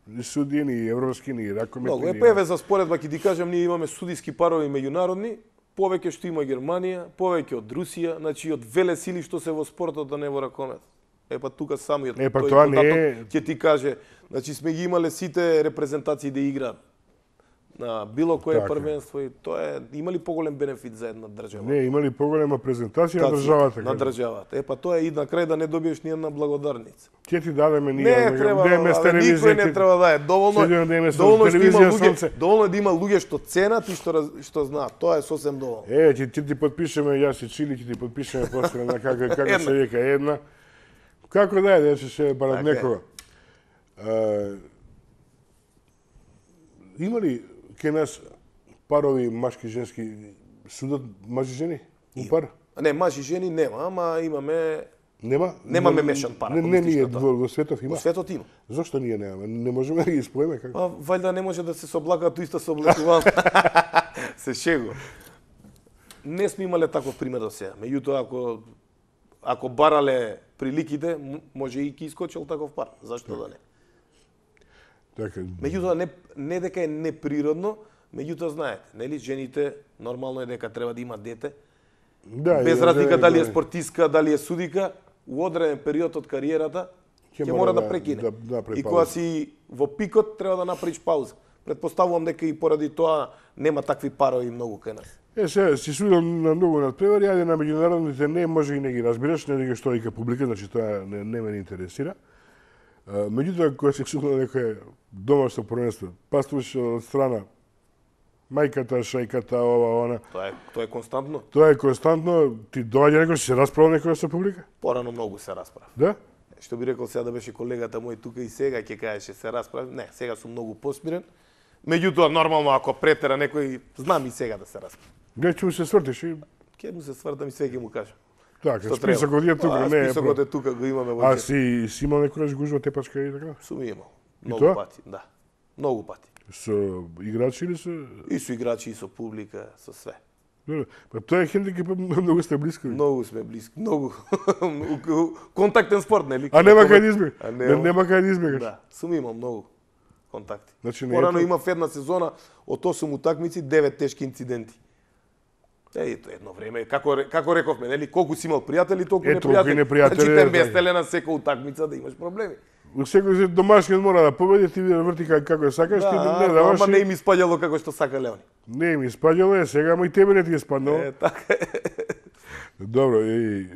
Speaker 1: ни суди, ни европски, ни ракометни.
Speaker 2: Многу е
Speaker 1: ни-
Speaker 2: певе за споредба, ќе ти кажам, ние имаме судиски парови меѓународни, повеќе што има Германија, повеќе од Русија, значи од веле сили што се во спортот, а не во ракомет. Е па тука самиот
Speaker 1: Е, па
Speaker 2: тој
Speaker 1: тоа не
Speaker 2: податок
Speaker 1: е-
Speaker 2: ќе ти каже, значи сме ги имале сите репрезентации да играат на било кое
Speaker 1: Така.
Speaker 2: првенство и тоа е има ли поголем бенефит за една држава?
Speaker 1: Не, имали поголема презентација на
Speaker 2: Тација,
Speaker 1: државата.
Speaker 2: На државата. Е па тоа е и на крај да не добиеш ни една благодарница.
Speaker 1: Ќе ти дадеме ние.
Speaker 2: Не треба,
Speaker 1: да имаме
Speaker 2: абе, никој не треба да е. Доволно
Speaker 1: Седиме
Speaker 2: е,
Speaker 1: да имаме со
Speaker 2: доволно е што има
Speaker 1: телевизија,
Speaker 2: луѓе,
Speaker 1: сонце.
Speaker 2: доволно е да има луѓе што ценат и што раз- што знаат. Тоа е сосем доволно.
Speaker 1: Е, ќе ти, ти подпишеме, јас и Чили, ќе ти подпишеме после на како како
Speaker 2: Една.
Speaker 1: се вика една. Како да е, да се ше барат
Speaker 2: Така е.
Speaker 1: некога. А, има ли кај нас парови машки женски судат мажи жени? У пар?
Speaker 2: Не, мажи и жени нема, ама имаме
Speaker 1: Нема?
Speaker 2: Немаме
Speaker 1: Не-
Speaker 2: мешан пар,
Speaker 1: Не,
Speaker 2: ако
Speaker 1: не
Speaker 2: мислиш
Speaker 1: ние
Speaker 2: на тоа.
Speaker 1: во, во светов има.
Speaker 2: во светот има.
Speaker 1: Зошто ние немаме? Не можеме да ги споеме како?
Speaker 2: Па вајда не може да се соблакаат иста се облакувам. Се шегу. Не сме имале таков пример до сега. Меѓутоа ако ако барале приликите, м- може и ки искочил таков пар. Зашто да не?
Speaker 1: Така.
Speaker 2: Меѓутоа не не дека е неприродно, меѓутоа знаете, нели жените нормално е дека треба да има дете.
Speaker 1: Да,
Speaker 2: Без
Speaker 1: и-
Speaker 2: разлика
Speaker 1: да,
Speaker 2: дали е
Speaker 1: да,
Speaker 2: спортистка, дали е судика, у одреден период од кариерата ќе мора да прекине.
Speaker 1: да- да направи
Speaker 2: И кога
Speaker 1: пауза.
Speaker 2: си во пикот треба да направиш пауза. Предпоставувам дека и поради тоа нема такви парови многу кај нас.
Speaker 1: Е, сега, си судил на многу надпревари, ајде на меѓународните не, може и не ги разбираш, не дека што вика публика, значи тоа не, не ме интересира. А, меѓутоа, кога се судил на некој домашно првенство, пастуваш од страна мајката, шајката, ова, она,
Speaker 2: Тоа е тоа е константно.
Speaker 1: тоа е константно, ти доаѓа некој, се расправа некој со публика?
Speaker 2: Порано многу се расправа.
Speaker 1: Да?
Speaker 2: Што би рекол сега да беше колегата мој тука и сега ќе кажеше се расправа. Не, сега сум многу посмирен. Меѓутоа нормално ако претера некој, знам и сега да се расправа.
Speaker 1: Гледа, ќе му се свртиш и
Speaker 2: Ќе му се свртам и све ќе му кажам.
Speaker 1: така,
Speaker 2: Што
Speaker 1: списокот
Speaker 2: треба.
Speaker 1: е тука,
Speaker 2: А,
Speaker 1: не е.
Speaker 2: списокот
Speaker 1: про-
Speaker 2: е тука, го имаме во
Speaker 1: А
Speaker 2: џеб.
Speaker 1: си, си имал некојаш гужва тепачка и така?
Speaker 2: Сум имал.
Speaker 1: И
Speaker 2: Многу
Speaker 1: тоа?
Speaker 2: пати, да. Многу пати.
Speaker 1: Со играчи или со...
Speaker 2: И со играчи, и со публика, со све.
Speaker 1: Добро. Па тоа е хендикеп, многу сте блиско.
Speaker 2: Многу сме блиски, многу. Контактен спорт, нели?
Speaker 1: А нема кај да избегаш.
Speaker 2: А
Speaker 1: Не,
Speaker 2: нема.
Speaker 1: нема кај да избегаш.
Speaker 2: Да, сум имал многу контакти.
Speaker 1: Значи, не е
Speaker 2: Порано
Speaker 1: тоа-
Speaker 2: имав една сезона од осум утакмици, девет тешки инциденти. Е, тоа едно време, како ре- како рековме, нели, колку си имал пријатели, толку
Speaker 1: Е, толку и
Speaker 2: непријатели.
Speaker 1: непријатели,
Speaker 2: Значи
Speaker 1: е,
Speaker 2: те
Speaker 1: така.
Speaker 2: местеле на секоја утакмица да имаш проблеми.
Speaker 1: Секој се домашниот мора да победи, ти да врти како, како сакаш, ти
Speaker 2: Да,
Speaker 1: не даваш.
Speaker 2: ама не
Speaker 1: и-
Speaker 2: им испаѓало како што сака Леони.
Speaker 1: Не ми испаѓало е, сега ама и тебе не ти е спаднало.
Speaker 2: Е, така е.
Speaker 1: Добро, и...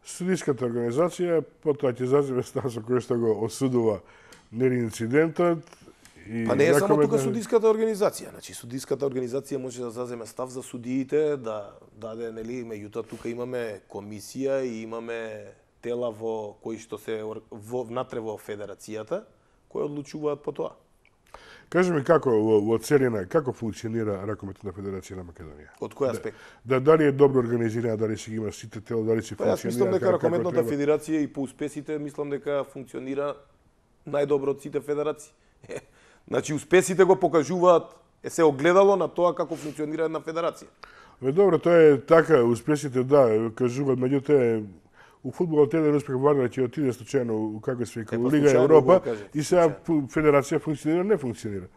Speaker 1: Судиската организација потоа ќе заземе став со кој што го осудува нели инцидентот. И
Speaker 2: Па не е само тука
Speaker 1: ракометна-
Speaker 2: судиската организација, значи судиската организација може да заземе став за судиите, да даде нели, меѓутоа тука имаме комисија и имаме тела во кои што се ор- во внатре во федерацијата кои одлучуваат по тоа.
Speaker 1: Кажи ми како во, во целина, како функционира ракометна федерација на Македонија?
Speaker 2: Од кој аспект?
Speaker 1: Да, дали е добро организирана, дали си ги има сите тела, дали си
Speaker 2: Па јас
Speaker 1: функционира
Speaker 2: мислам дека
Speaker 1: како- како
Speaker 2: ракометната
Speaker 1: треба?
Speaker 2: федерација и по успесите мислам дека функционира најдобро од сите федерации. Значи успесите го покажуваат е се огледало на тоа како функционира една федерација.
Speaker 1: Бе, добро, тоа е така, успесите да, кажуваат, меѓутоа у фудбалот еден успех Вардар ќе отиде случајно у како се вика
Speaker 2: Е, па
Speaker 1: у Лига
Speaker 2: случајно
Speaker 1: Европа
Speaker 2: го кажете,
Speaker 1: и сега
Speaker 2: случајно.
Speaker 1: фу- федерација функционира, не функционира.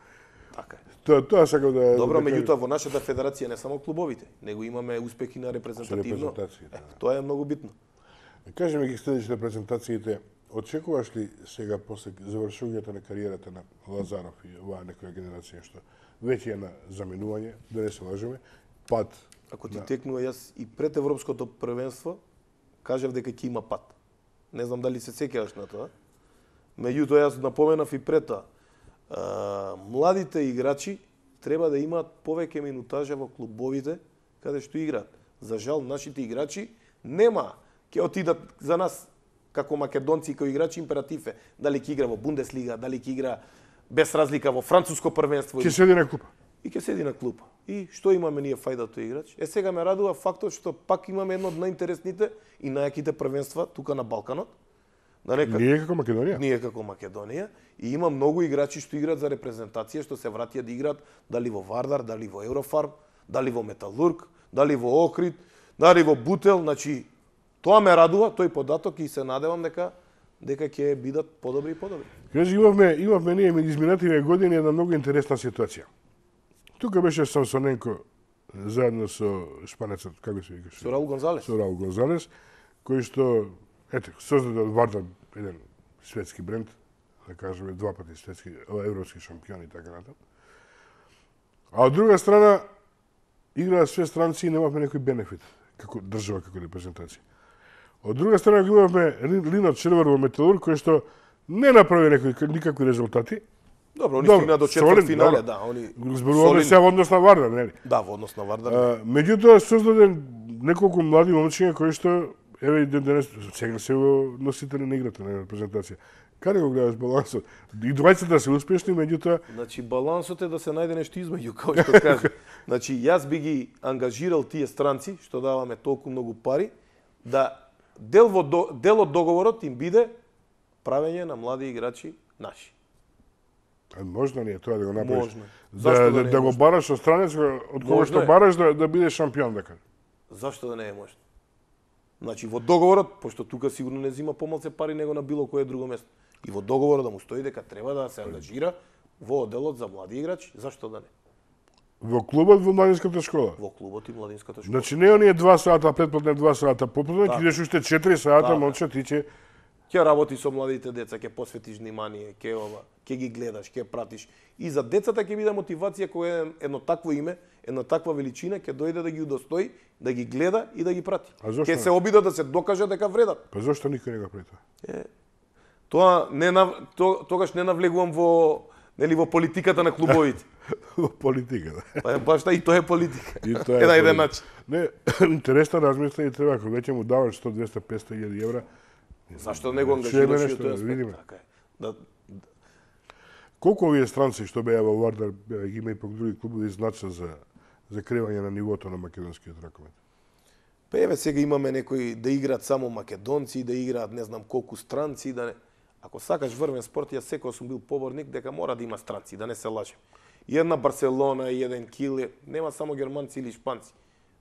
Speaker 2: Така е.
Speaker 1: Тоа тоа сакам да
Speaker 2: Добро,
Speaker 1: да кажам.
Speaker 2: меѓутоа во нашата федерација не само клубовите, него имаме успехи на репрезентативно.
Speaker 1: репрезентацијата, да.
Speaker 2: Е, тоа е многу битно.
Speaker 1: Кажи ми ги следиш репрезентациите, очекуваш ли сега после завршувањето на кариерата на Лазаров и оваа некоја генерација што веќе е на заменување, да не се лажеме, пат.
Speaker 2: Ако ти текнува јас и пред европското првенство кажав дека ќе има пат. Не знам дали се сеќаваш на тоа. Меѓутоа јас напоменав и пред тоа. А, младите играчи треба да имаат повеќе минутажа во клубовите каде што играат. За жал нашите играчи нема ќе отидат за нас како македонци кои играчи императив е дали ќе игра во Бундеслига, дали ќе игра без разлика во француско првенство
Speaker 1: Ќе седи на клупа.
Speaker 2: и ќе седи на клупа. И што имаме ние фајда тој играч? Е сега ме радува фактот што пак имаме едно од најинтересните и најаките првенства тука на Балканот. Да нека
Speaker 1: Ние како Македонија.
Speaker 2: ние како Македонија и има многу играчи што играат за репрезентација, што се вратија да играат дали во Вардар, дали во Еврофарм, дали во Металург, дали во Охрид, дали во Бутел, значи тоа ме радува, тој податок и се надевам дека дека ќе бидат подобри и подобри.
Speaker 1: Кажи, имавме, имавме ние изминативе години една многу интересна ситуација. Тука беше Самсоненко заедно со шпанецот, како се викаше?
Speaker 2: Со Раул Гонзалес.
Speaker 1: Со Раул Гонзалес, кој што, ете, создаде од Вардар еден светски бренд, да кажеме два пати светски, европски шампион и така натаму. А од друга страна, играат све странци и немавме некој бенефит, како држава, како репрезентација. Од друга страна, го имавме Линот Червар во Металург, кој што не направи некои, никакви резултати.
Speaker 2: Добро, они
Speaker 1: Добро,
Speaker 2: стигна до
Speaker 1: солидно,
Speaker 2: четврт финале,
Speaker 1: добро.
Speaker 2: да, они
Speaker 1: Зборуваме
Speaker 2: солидно.
Speaker 1: се во однос на Вардар, нели?
Speaker 2: Да, во однос на Вардар.
Speaker 1: А, меѓутоа создаде неколку млади момчиња кои што еве и ден денес сега се во носители на играта на репрезентација. Каде го гледаш балансот? И двајцата се успешни, меѓутоа
Speaker 2: Значи балансот е да се најде нешто измеѓу, како што кажа. Значи јас би ги ангажирал тие странци што даваме толку многу пари да дел во до, дел од договорот им биде правење на млади играчи наши.
Speaker 1: а можно ли е тоа да го направиш?
Speaker 2: Можно.
Speaker 1: Да,
Speaker 2: Зашто да
Speaker 1: да,
Speaker 2: не е
Speaker 1: да го
Speaker 2: можно?
Speaker 1: бараш од странец од кога
Speaker 2: Можно
Speaker 1: што
Speaker 2: е.
Speaker 1: бараш да, да биде шампион, да кажа.
Speaker 2: Зашто да не е можно? Значи во договорот, пошто тука сигурно не зима помалце пари него на било кое друго место. И во договорот да му стои дека треба да се ангажира во одделот за млади играчи, зашто да не?
Speaker 1: Во клубот во младинската школа.
Speaker 2: Во клубот и младинската школа.
Speaker 1: Значи не оние два сата предплатне два сата попладне,
Speaker 2: Така.
Speaker 1: ќе идеш уште четири сата,
Speaker 2: Така.
Speaker 1: момче, ти ќе
Speaker 2: Ќе работи со младите деца, ќе посветиш внимание, ќе ова, ќе ги гледаш, ќе пратиш. И за децата ќе биде мотивација кога едно, едно такво име, една таква величина ќе дојде да ги удостои, да ги гледа и да ги прати.
Speaker 1: А зошто
Speaker 2: Ќе
Speaker 1: не?
Speaker 2: се обида да се докаже дека вредат.
Speaker 1: Па зошто никој не го прави тоа?
Speaker 2: Е, тоа не нав... то, тогаш не навлегувам во нели во политиката на клубовите.
Speaker 1: Во политика, да.
Speaker 2: Па баш та и тоа е политика.
Speaker 1: И тоа
Speaker 2: е на еден
Speaker 1: политика.
Speaker 2: начин.
Speaker 1: Не, интересна размисла и треба, ако веќе му даваш сто, двесте, петстотини илјади евра,
Speaker 2: Зашто не го
Speaker 1: Чуеме
Speaker 2: ангажираш и
Speaker 1: нешто,
Speaker 2: тој аспект?
Speaker 1: видиме.
Speaker 2: Така е. Да,
Speaker 1: колку овие странци што беа во Вардар, беа, ги има и пак други клубови, значат за за кривање на нивото на македонскиот ракомет?
Speaker 2: Па еве сега имаме некои да играат само македонци, да играат не знам колку странци, да не. Ако сакаш врвен спорт, јас секој сум бил поборник дека мора да има странци, да не се лажем. И една Барселона, и еден Кил, нема само германци или шпанци.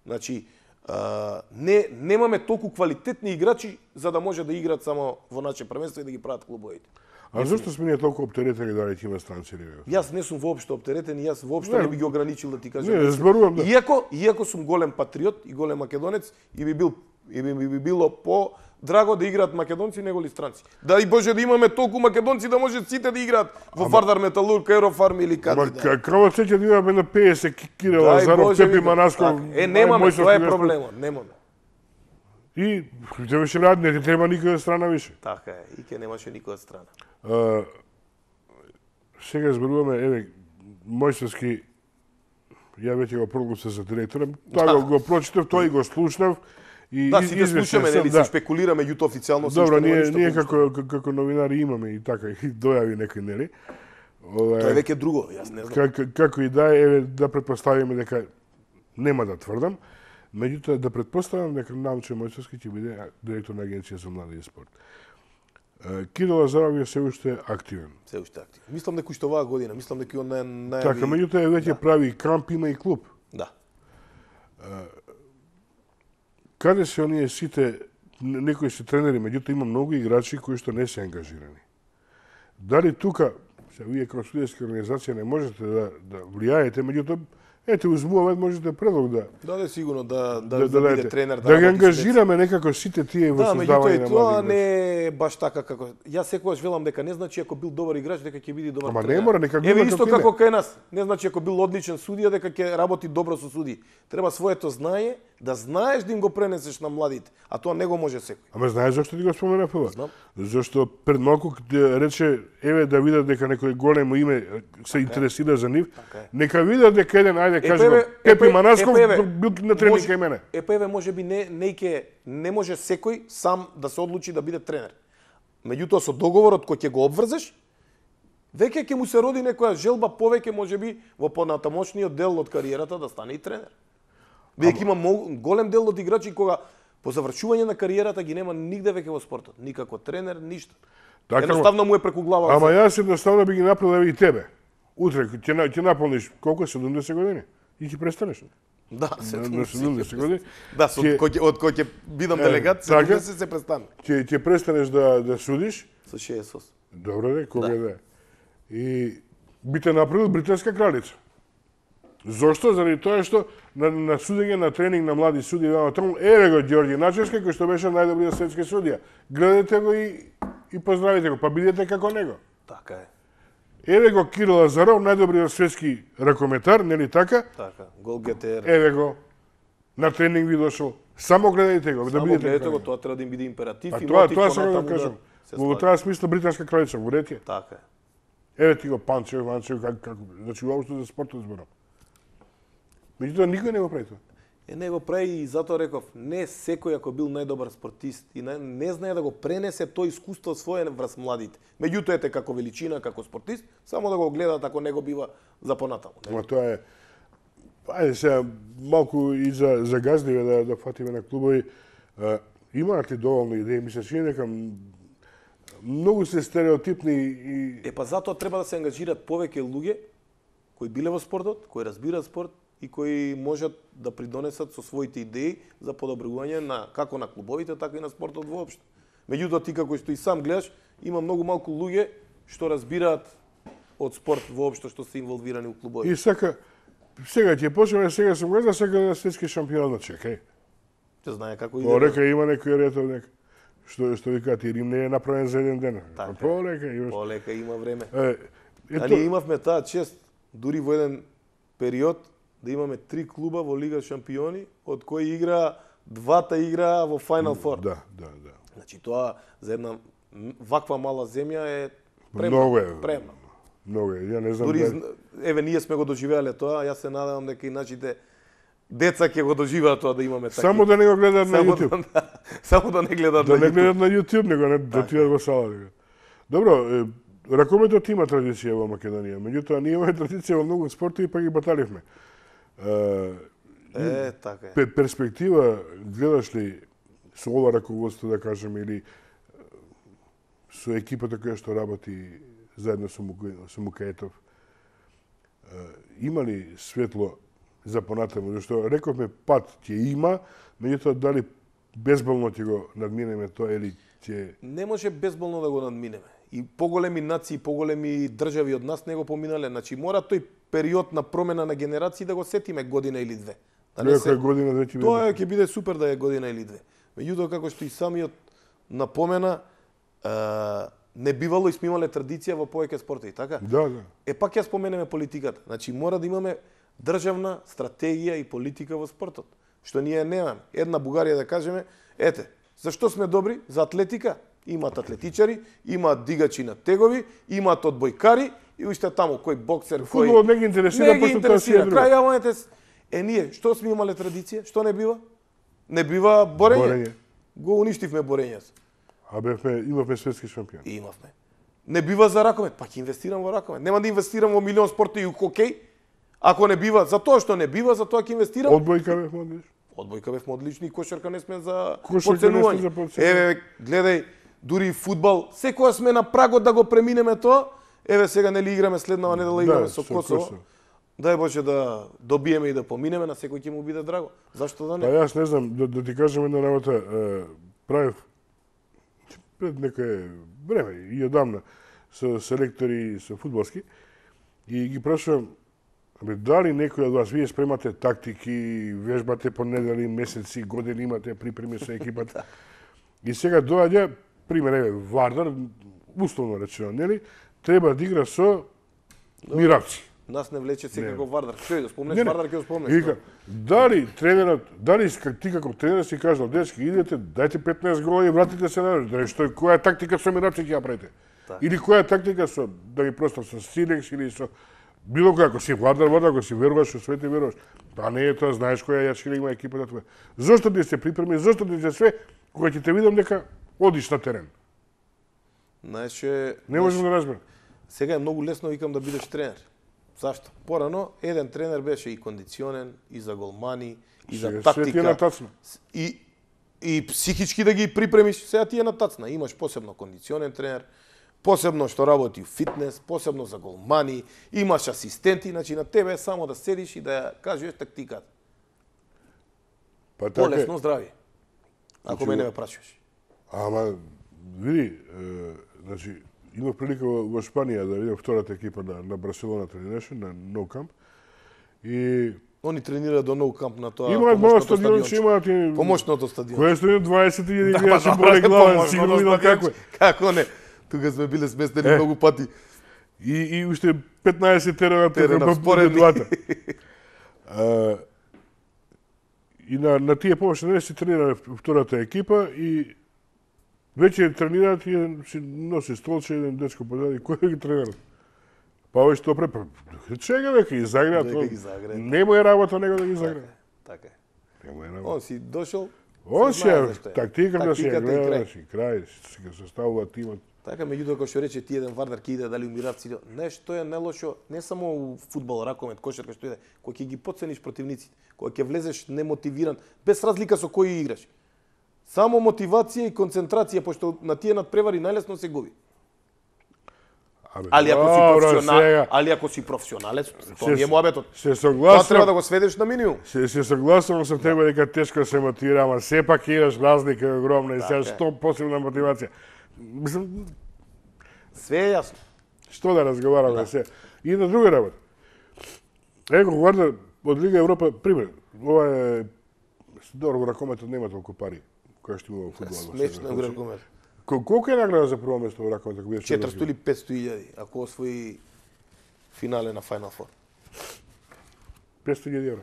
Speaker 2: Значи, а, не немаме толку квалитетни играчи за да може да играат само во наше првенство и да ги прават клубовите.
Speaker 1: А зошто сме ние толку оптеретени дали ќе има странци или не?
Speaker 2: Јас не сум воопшто оптеретен и јас воопшто
Speaker 1: Не,
Speaker 2: не би ги ограничил да ти кажам.
Speaker 1: не, зборувам, да.
Speaker 2: Иако, иако сум голем патриот и голем македонец и би бил и би, би, би било по драго да играат македонци него ли странци. Да и Боже да имаме толку македонци да може сите да играат во Вардар, Металург, Еврофарм или каде
Speaker 1: Ма
Speaker 2: да.
Speaker 1: како сеќа да имаме на петдесет Кирил
Speaker 2: Дај
Speaker 1: Лазаров,
Speaker 2: Боже,
Speaker 1: Пепи
Speaker 2: викам,
Speaker 1: Манаско.
Speaker 2: така. Е немаме, тоа е проблемот, немаме.
Speaker 1: И ќе беше рад, не ти треба никоја страна више.
Speaker 2: Така е, и ке немаше никоја страна.
Speaker 1: А, сега зборуваме, еве, Мојсевски, ја веќе го прогласив за директором, тоа го, го прочитав, тој и го слушнав. И
Speaker 2: Да, сите слушаме, нели, се шпекулира, меѓутоа официјално се
Speaker 1: Добро, ние, ние како, како новинари имаме и така, и дојави некој, нели?
Speaker 2: Тоа е веќе друго, јас не знам.
Speaker 1: Како, како и да е, еве, да предпоставиме дека, нема да тврдам, меѓутоа да предпоставам дека Науче Мојсевски ќе биде директор на Агенција за млади и спорт. Кирил Лазаров е се уште активен.
Speaker 2: Се уште активен. Мислам дека уште оваа година, мислам дека он нај најави...
Speaker 1: Така, меѓутоа веќе прави камп, има и клуб.
Speaker 2: Да.
Speaker 1: Каде се оние сите, некои се тренери, меѓутоа има многу играчи кои што не се ангажирани. Дали тука, се вие како студентска организација не можете да, да влијаете, меѓутоа, ете, узмуваме, можете предлог да...
Speaker 2: Да, да, сигурно, да, да,
Speaker 1: да,
Speaker 2: да,
Speaker 1: да
Speaker 2: биде тренер,
Speaker 1: да, да ги ангажираме некако сите тие во
Speaker 2: да,
Speaker 1: создавање
Speaker 2: меѓутоа,
Speaker 1: на
Speaker 2: тоа
Speaker 1: млади
Speaker 2: не е баш така како... Јас секогаш велам дека не значи ако бил добар играч дека ќе биде добар
Speaker 1: Ама
Speaker 2: тренер.
Speaker 1: не мора, нека
Speaker 2: Еве
Speaker 1: гледа
Speaker 2: исто
Speaker 1: како
Speaker 2: како кај нас. Не значи ако бил одличен судија дека ќе работи добро со судии. Треба своето знание, да знаеш да им го пренесеш на младите, а тоа не го може секој.
Speaker 1: Ама знаеш зашто ти го споменав ова?
Speaker 2: Знам.
Speaker 1: Зашто пред малку рече, еве да видат дека некој големо име се интересира за нив, нека видат дека еден, ајде кажеме, Пепи Манасков бил на тренинг кај мене.
Speaker 2: Е па еве можеби не не ќе не може секој сам да се одлучи да биде тренер. Меѓутоа со договорот кој ќе го обврзеш, веќе ќе му се роди некоја желба повеќе можеби во понатамошниот дел од кариерата да стане и тренер. Бидејќи има голем дел од играчи кога по завршување на кариерата ги нема нигде веќе во спортот, никако тренер, ништо.
Speaker 1: Така,
Speaker 2: едноставно му е преку глава.
Speaker 1: Ама јас едноставно би ги направил и тебе. Утре ќе ќе наполниш колку седумдесет години и ќе престанеш.
Speaker 2: Да,
Speaker 1: седумдесет години.
Speaker 2: Да, со кој од кој ќе бидам делегат, седумдесет се престане.
Speaker 1: Ќе ќе престанеш да да судиш
Speaker 2: со шеесет осум.
Speaker 1: Добро де, кога да. И би те направил британска кралица. Зошто? Заради тоа што на, на судење на тренинг на млади судии на тому, еве го Ѓорѓи Начевски кој што беше најдобриот светски судија. Гледате го и и поздравите го, па бидете како него.
Speaker 2: Така е.
Speaker 1: Еве го Кирил Лазаров, најдобриот светски ракометар, нели така?
Speaker 2: Така, голгетер.
Speaker 1: Еве го. На тренинг ви дошол. Само гледајте го, да
Speaker 2: Само
Speaker 1: бидете
Speaker 2: гледате
Speaker 1: како
Speaker 2: го,
Speaker 1: него.
Speaker 2: тоа треба да им биде императив
Speaker 1: А
Speaker 2: и
Speaker 1: тоа
Speaker 2: мотив
Speaker 1: тоа сакам да
Speaker 2: понатаму
Speaker 1: кажам.
Speaker 2: се
Speaker 1: Во
Speaker 2: ствари.
Speaker 1: таа смисла британска кралица во ред е.
Speaker 2: Така е.
Speaker 1: Еве ти го Панчев, Ванчев, како како, значи уопшто за спортот зборам. Меѓутоа никој не го прави тоа.
Speaker 2: Е, не го прави и затоа реков, не секој ако бил најдобар спортист и не, не знае да го пренесе тој искуство свое врз младите. Меѓутоа ете како величина, како спортист, само да го гледат ако не го бива за понатаму.
Speaker 1: Ама тоа е ајде сега малку и за за газдиве да да фатиме на клубови. А, имаат ли доволно идеи? Ми се чини дека многу се стереотипни и
Speaker 2: Е па затоа треба да се ангажираат повеќе луѓе кои биле во спортот, кои разбираат спорт и кои можат да придонесат со своите идеи за подобрување на како на клубовите, така и на спортот воопшто. Меѓутоа ти како што и сам гледаш, има многу малку луѓе што разбираат од спорт воопшто што се инволвирани у клубови.
Speaker 1: и сака сега ќе почнеме, сега сум гледа, сака да светски шампион на чекај.
Speaker 2: Се знае како
Speaker 1: По
Speaker 2: иде.
Speaker 1: река има некој ред од нека. Што што викаат и Рим не е направен за еден ден.
Speaker 2: Така.
Speaker 1: По река имаш.
Speaker 2: Полека има време.
Speaker 1: Е,
Speaker 2: А
Speaker 1: ето,
Speaker 2: ние имавме таа чест, дури во еден период, да имаме три клуба во Лига шампиони, од кои игра двата игра во Final Four.
Speaker 1: да, да, да.
Speaker 2: Значи тоа за една м- ваква мала земја е премно.
Speaker 1: Многу е.
Speaker 2: Премно.
Speaker 1: Многу е. Ја не знам.
Speaker 2: Дури
Speaker 1: да-
Speaker 2: зн- еве ние сме го доживеале тоа, јас се надевам дека и нашите деца ќе го доживеат тоа да имаме така.
Speaker 1: Само да не го гледаат на
Speaker 2: само
Speaker 1: YouTube.
Speaker 2: да, само да не гледаат
Speaker 1: Да
Speaker 2: на
Speaker 1: не
Speaker 2: YouTube.
Speaker 1: гледат на YouTube, него не да отидат во сала. Него. Добро, е, ракометот има традиција во Македонија, меѓутоа ние имаме традиција во многу спортови па ги баталивме. Е,
Speaker 2: Е, така е.
Speaker 1: пе- перспектива гледаш ли со ова раководство да кажем или е, со екипата која што работи заедно со Мука- со Мукаетов, е, има ли светло за понатаму, зашто рековме пат ќе има, меѓутоа дали безболно ќе го надминеме тоа или ќе
Speaker 2: Не може безболно да го надминеме. И поголеми нации, поголеми држави од нас не го поминале. Значи мора тој период на промена на генерации да го сетиме година или две. Да не
Speaker 1: некоја
Speaker 2: се...
Speaker 1: година веќе биде.
Speaker 2: Тоа ќе биде супер да е година или две. Меѓутоа како што и самиот напомена, е, не бивало и сме имале традиција во повеќе спортови, така?
Speaker 1: Да, да.
Speaker 2: Е пак ја споменеме политиката. Значи мора да имаме државна стратегија и политика во спортот, што ние немаме. Една Бугарија да кажеме, Ете, зашто сме добри? За атлетика. Имаат атлетичари, имаат дигачи на тегови, имаат одбојкари и уште таму кој боксер, кој
Speaker 1: Фудбалот не ги интересира,
Speaker 2: не ги
Speaker 1: пошто тоа си е
Speaker 2: интересира.
Speaker 1: друго.
Speaker 2: Крај јавањето е ние, што сме имале традиција? Што не бива? Не бива борење.
Speaker 1: Борење.
Speaker 2: Го уништивме борењето.
Speaker 1: А бевме, имавме светски шампион.
Speaker 2: И имавме. Не бива за ракомет, па ќе инвестирам во ракомет. Нема да инвестирам во милион спорти и у хокеј. Ако не бива, за тоа што не бива, за тоа ќе инвестирам.
Speaker 1: Одбојка бевме одлични.
Speaker 2: Одбојка бевме одлични, и кошарка не сме за
Speaker 1: Кошарка не сме
Speaker 2: подценување.
Speaker 1: за подценување.
Speaker 2: Еве, гледај, дури и фудбал, секоја сме на прагот да го преминеме тоа. Еве сега нели играме следнава недела играме
Speaker 1: Да,
Speaker 2: со
Speaker 1: со
Speaker 2: Косово.
Speaker 1: Косово.
Speaker 2: Дај Боже да добиеме и да поминеме, на секој ќе му биде драго. Зашто да
Speaker 1: Па
Speaker 2: не?
Speaker 1: јас не знам, да, да ти кажам една работа, е, правев пред некое време и одамна со селектори со фудбалски и ги прашувам, абе дали некој од вас вие спремате тактики, вежбате по недели, месеци, години, имате припреми со екипата. И сега доаѓа пример еве Вардар, условно речено, нели, треба да игра со Миравци.
Speaker 2: Нас не влече секако Вардар. Што да спомнеш
Speaker 1: Не, не.
Speaker 2: Вардар, ќе го
Speaker 1: И
Speaker 2: спомнеш.
Speaker 1: вика, дали тренерот, дали как ти како тренер си кажал, дечки, идете, дајте петнаесет гола и вратите се на да што која тактика со Миравци ќе ја правите?
Speaker 2: Така.
Speaker 1: Или која тактика со да ги простам со Силекс или со било која, ако си Вардар, Вардар, ако си веруваш со свете веруваш. Па не е тоа, знаеш која јачкина има екипата твоја. Зошто ти се припреми, зошто ти се све, кога ќе те видам дека одиш на терен?
Speaker 2: Знаеш,
Speaker 1: Не можам да разберам.
Speaker 2: сега е многу лесно викам да бидеш тренер. Зашто? Порано еден тренер беше и кондиционен, и за голмани, и за
Speaker 1: Сега све ти е
Speaker 2: тактика.
Speaker 1: натацна.
Speaker 2: И и психички да ги припремиш, сега ти е натацна. Имаш посебно кондиционен тренер, посебно што работи у фитнес, посебно за голмани, имаш асистенти, значи на тебе е само да седиш и да ја кажеш тактиката.
Speaker 1: Па така е.
Speaker 2: Полесно здрави. Ако
Speaker 1: Значи,
Speaker 2: мене ме прашуваш.
Speaker 1: Ама, види, е, значи, имав прилика во, во Шпанија да видам втората екипа на, на Барселона тренираше, на No Camp. И
Speaker 2: Они тренираат до Nou Camp на тоа
Speaker 1: имаат моја стадион,
Speaker 2: стадионче.
Speaker 1: имаат и...
Speaker 2: Помошното стадион.
Speaker 1: Кој е стадион дваесет илјади
Speaker 2: Да,
Speaker 1: играчи
Speaker 2: па,
Speaker 1: боле
Speaker 2: добре,
Speaker 1: глава,
Speaker 2: помошното
Speaker 1: сигурно видам
Speaker 2: стадионче.
Speaker 1: како е.
Speaker 2: Како не? Тука сме биле сместени
Speaker 1: Е.
Speaker 2: многу пати.
Speaker 1: И, и уште петнаесет терена
Speaker 2: Терена
Speaker 1: тука
Speaker 2: споредни.
Speaker 1: двата. А, и на, на тие помошни не си тренира втората екипа и веќе тренираат и еден си носи столче, еден дечко позади, кој ги тренира? Па овој што препа, чега века ги загреат,
Speaker 2: Дека
Speaker 1: он-
Speaker 2: ги загреат.
Speaker 1: не му е работа него да ги загреат.
Speaker 2: Така е.
Speaker 1: Не му е работа.
Speaker 2: Он си дошол.
Speaker 1: Он
Speaker 2: се
Speaker 1: си
Speaker 2: знае
Speaker 1: е,
Speaker 2: зашто е.
Speaker 1: тактиката си ја
Speaker 2: Тактиката и
Speaker 1: гледа,
Speaker 2: крај.
Speaker 1: значи, крај, си го составува тимот.
Speaker 2: Така, меѓутоа, кога што рече ти еден Вардар ќе иде дали у Миравци, нешто е нелошо, не само у фудбал, ракомет, кошарка што иде, кога ќе ги подцениш противниците, кога ќе влезеш немотивиран, без разлика со кој играш. Само мотивација и концентрација, пошто на тие надпревари најлесно се губи.
Speaker 1: Абе,
Speaker 2: Али ако си
Speaker 1: добро,
Speaker 2: професионал,
Speaker 1: сега,
Speaker 2: али ако си професионалец, тоа
Speaker 1: се-
Speaker 2: не е муабетот.
Speaker 1: Се
Speaker 2: Тоа треба
Speaker 1: согласувам,
Speaker 2: да го сведеш на минимум.
Speaker 1: се, се согласувам со тебе дека тешко се мотивира, ама сепак имаш разлика е огромна и сега
Speaker 2: Така е.
Speaker 1: што посебна мотивација. Мислам,
Speaker 2: Све е јасно.
Speaker 1: што да разговараме се. И на друга работа. Его Вардар од Лига Европа, пример, ова е добро во ракометот нема толку пари која што има во фудбалот.
Speaker 2: Смешно го ракомет.
Speaker 1: Кол- Колку е награда за прво место во ракометот? ако бидеш
Speaker 2: четиристо или петсто илјади, ако освои финале на Final Four.
Speaker 1: петсто илјади евра.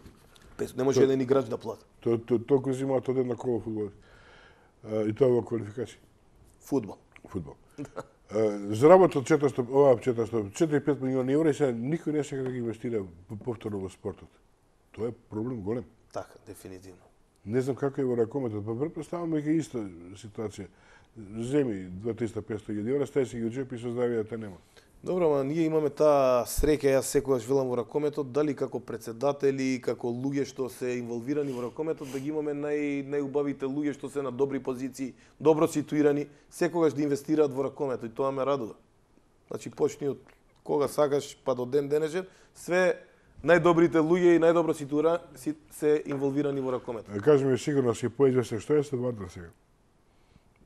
Speaker 2: петсто, не може еден играч да плати.
Speaker 1: То, то, толку зимаат од една кола фудбал. И тоа во квалификација.
Speaker 2: Фудбал.
Speaker 1: Фудбал. А, Заработот четиристо, ова четиристо, четири-пет милиони евра и сега никој не сака да ги инвестира повторно во спортот. Тоа е проблем голем.
Speaker 2: Така, дефинитивно.
Speaker 1: Не знам како е во ракометот, па претпоставам дека е иста ситуација. Земи дваесет-петсто илјади евра, стај си ги од джеп и создавија да те нема.
Speaker 2: Добро, ма ние имаме таа среќа, јас секогаш велам во ракометот, дали како председатели, како луѓе што се инволвирани во ракометот, да ги имаме нај најубавите луѓе што се на добри позиции, добро ситуирани, секогаш да инвестираат во ракометот и тоа ме радува. Значи почни од кога сакаш па до ден денешен, све најдобрите луѓе и најдобро ситуира си, се инволвирани во ракометот.
Speaker 1: Да кажеме сигурно си поизвестен што е со Вардар сега.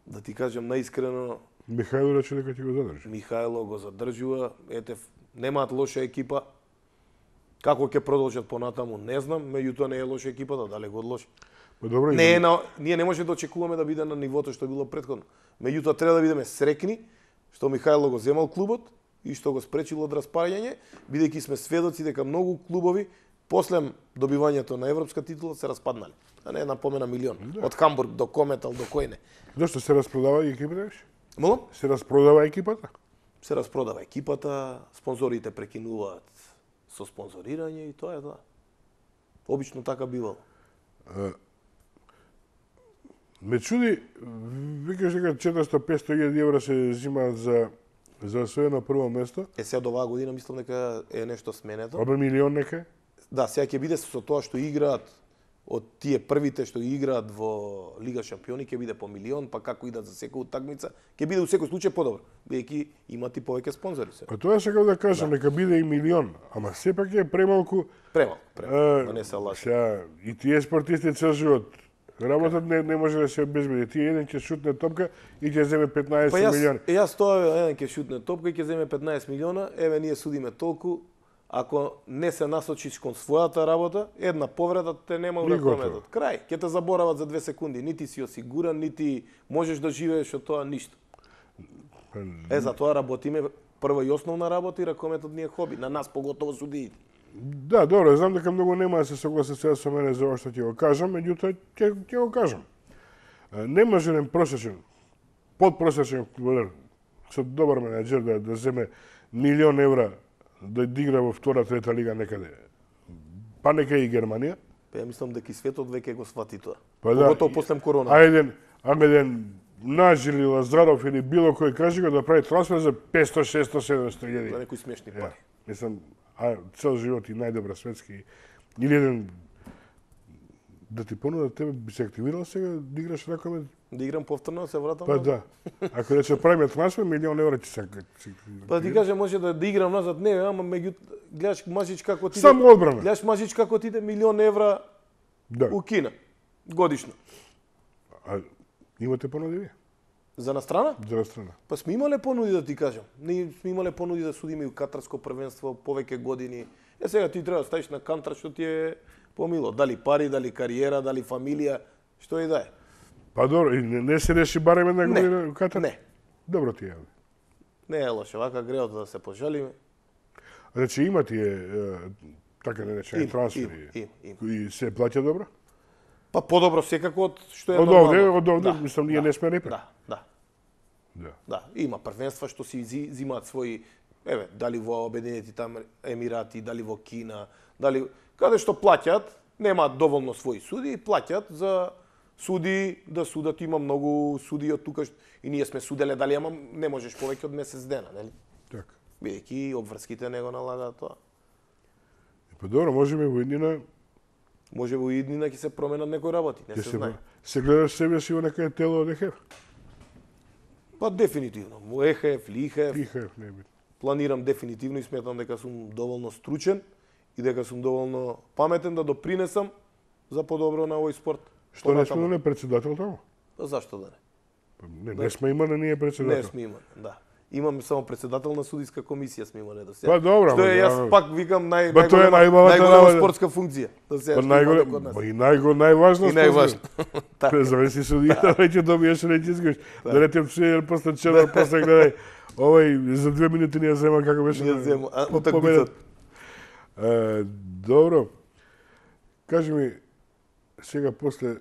Speaker 2: Да ти кажам наискрено,
Speaker 1: Михајло рече дека ќе го задржи.
Speaker 2: Михајло го задржува, ете, немаат лоша екипа. Како ќе продолжат понатаму, не знам, меѓутоа не е лоша екипата, далеку од лоша.
Speaker 1: Па добро,
Speaker 2: Не е на, ние не може да очекуваме да биде на нивото што било претходно. Меѓутоа треба да бидеме срекни што Михајло го земал клубот и што го спречил од распаѓање, бидејќи сме сведоци дека многу клубови после добивањето на европска титула се распаднале. А не една помена милион. Да. Од Хамбург до Кометал до кој не.
Speaker 1: Зошто се распродава екипата?
Speaker 2: Молам?
Speaker 1: Се распродава екипата?
Speaker 2: Се распродава екипата, спонзорите прекинуваат со спонзорирање и тоа е тоа. Обично така бивало.
Speaker 1: А, ме чуди, викаш дека четиристо до петстотини илјади евра се взимаат за за освоено прво место.
Speaker 2: Е сега до оваа година мислам дека е нешто сменето.
Speaker 1: Обе милион нека?
Speaker 2: Да, сега ќе биде со тоа што играат од тие првите што играат во Лига шампиони ќе биде по милион, па како идат за секоја утакмица, ќе биде во секој случај подобро, бидејќи имат и повеќе спонзори се.
Speaker 1: Па тоа сакам да кажам, да. Нека биде и милион, ама сепак е премалку.
Speaker 2: Премалку, премалку, а, не се лаже.
Speaker 1: Сега и тие спортисти цел живот работат, не, не може да се обезбеди. Тие еден ќе шутне топка и ќе земе петнаесет
Speaker 2: па јас,
Speaker 1: милиони.
Speaker 2: Па јас тоа еден ќе шутне топка и ќе земе петнаесет милиона, еве ние судиме толку. Ако не се насочиш кон својата работа, една повреда те нема уракометот. Крај, ќе те заборават за две секунди. Нити си осигуран, нити можеш да живееш од тоа ништо. Е, за тоа работиме прва и основна работа и ракометот ни е хоби. На нас поготово судиите.
Speaker 1: Да, добро, знам дека многу нема да се согласат сега со мене за ова што ќе го кажам, меѓутоа ќе ќе го кажам. Не може еден просечен, подпросечен фудбалер со добар менеджер да да земе милион евра да игра во втора, трета лига некаде. Па нека и Германија.
Speaker 2: Па ја мислам дека и светот веќе го свати тоа.
Speaker 1: Па да,
Speaker 2: поготово после корона.
Speaker 1: А еден, а еден Наж или Лазаров или било кој кажи го да прави трансфер за петсто, шестсто, седумсто илјади.
Speaker 2: За некои смешни пари.
Speaker 1: Мислам, а цел живот и најдобра светски. Или еден да ти понудат тебе, би се активирал сега да играш ракомет?
Speaker 2: Да играм повторно, да се вратам?
Speaker 1: Па да. Ако рече правиме трансфер, милион евра ќе се.
Speaker 2: Па ти кажа може да, да играм назад, не, ама меѓу гледаш мажич како ти
Speaker 1: Само одбрана.
Speaker 2: Гледаш мажич како ти иде милион евра
Speaker 1: да.
Speaker 2: У Кина годишно.
Speaker 1: А имате понуди вие?
Speaker 2: За настрана?
Speaker 1: За настрана.
Speaker 2: Па сме имале понуди да ти кажам. Ние сме имале понуди да судиме и у катарско првенство повеќе години. Е сега ти треба да ставиш на кантар што ти е помило, дали пари, дали кариера, дали фамилија, што и да е.
Speaker 1: Па добро, и не, не се реши барем една година у Катар?
Speaker 2: Не.
Speaker 1: Добро ти е.
Speaker 2: Не е лошо, вака греот да се пожалиме.
Speaker 1: Значи има тие така наречени трансфери.
Speaker 2: Им, им, им.
Speaker 1: И се плаќа добро?
Speaker 2: Па подобро секако од што е
Speaker 1: од
Speaker 2: нормално.
Speaker 1: овде, од овде,
Speaker 2: да,
Speaker 1: мислам, ние
Speaker 2: да,
Speaker 1: не сме репер.
Speaker 2: Да, да.
Speaker 1: Да.
Speaker 2: Да, има првенства што си зимаат своји, еве, дали во Обединети там Емирати, дали во Кина, дали каде што плаќаат, немаат доволно своји суди, плаќаат за суди да судат, има многу суди од тука и ние сме суделе, дали ама не можеш повеќе од месец дена, нели?
Speaker 1: Така.
Speaker 2: Бидејќи обврските не го налагаат тоа.
Speaker 1: Па добро, можеме во иднина
Speaker 2: може во иднина ќе се променат некои работи, не се, се знае.
Speaker 1: Се гледаш себе си во некој тело од ЕХФ?
Speaker 2: Па дефинитивно, во ЕХФ, ЛИХФ.
Speaker 1: ЛИХФ не би.
Speaker 2: Планирам дефинитивно и сметам дека сум доволно стручен и дека сум доволно паметен да допринесам за подобро на овој спорт.
Speaker 1: Што не сме да не председател таму?
Speaker 2: Па зашто да не?
Speaker 1: Па, не, да. не сме имали ние председател.
Speaker 2: Не сме имали, да. Имаме само председател на судиска комисија сме имале до сега.
Speaker 1: Па добро,
Speaker 2: што е јас
Speaker 1: да,
Speaker 2: пак викам нај
Speaker 1: ба,
Speaker 2: најголема, најголема спортска функција. Да се
Speaker 1: па најголема, па и најго најважна
Speaker 2: и најважна.
Speaker 1: Така. Зависи судијата, веќе добиеш речи изгош. Да речем се после черно, после гледај овој за две минути не ја зема како беше.
Speaker 2: Не ја зема, а утакмицата.
Speaker 1: Добро. Кажи ми сега после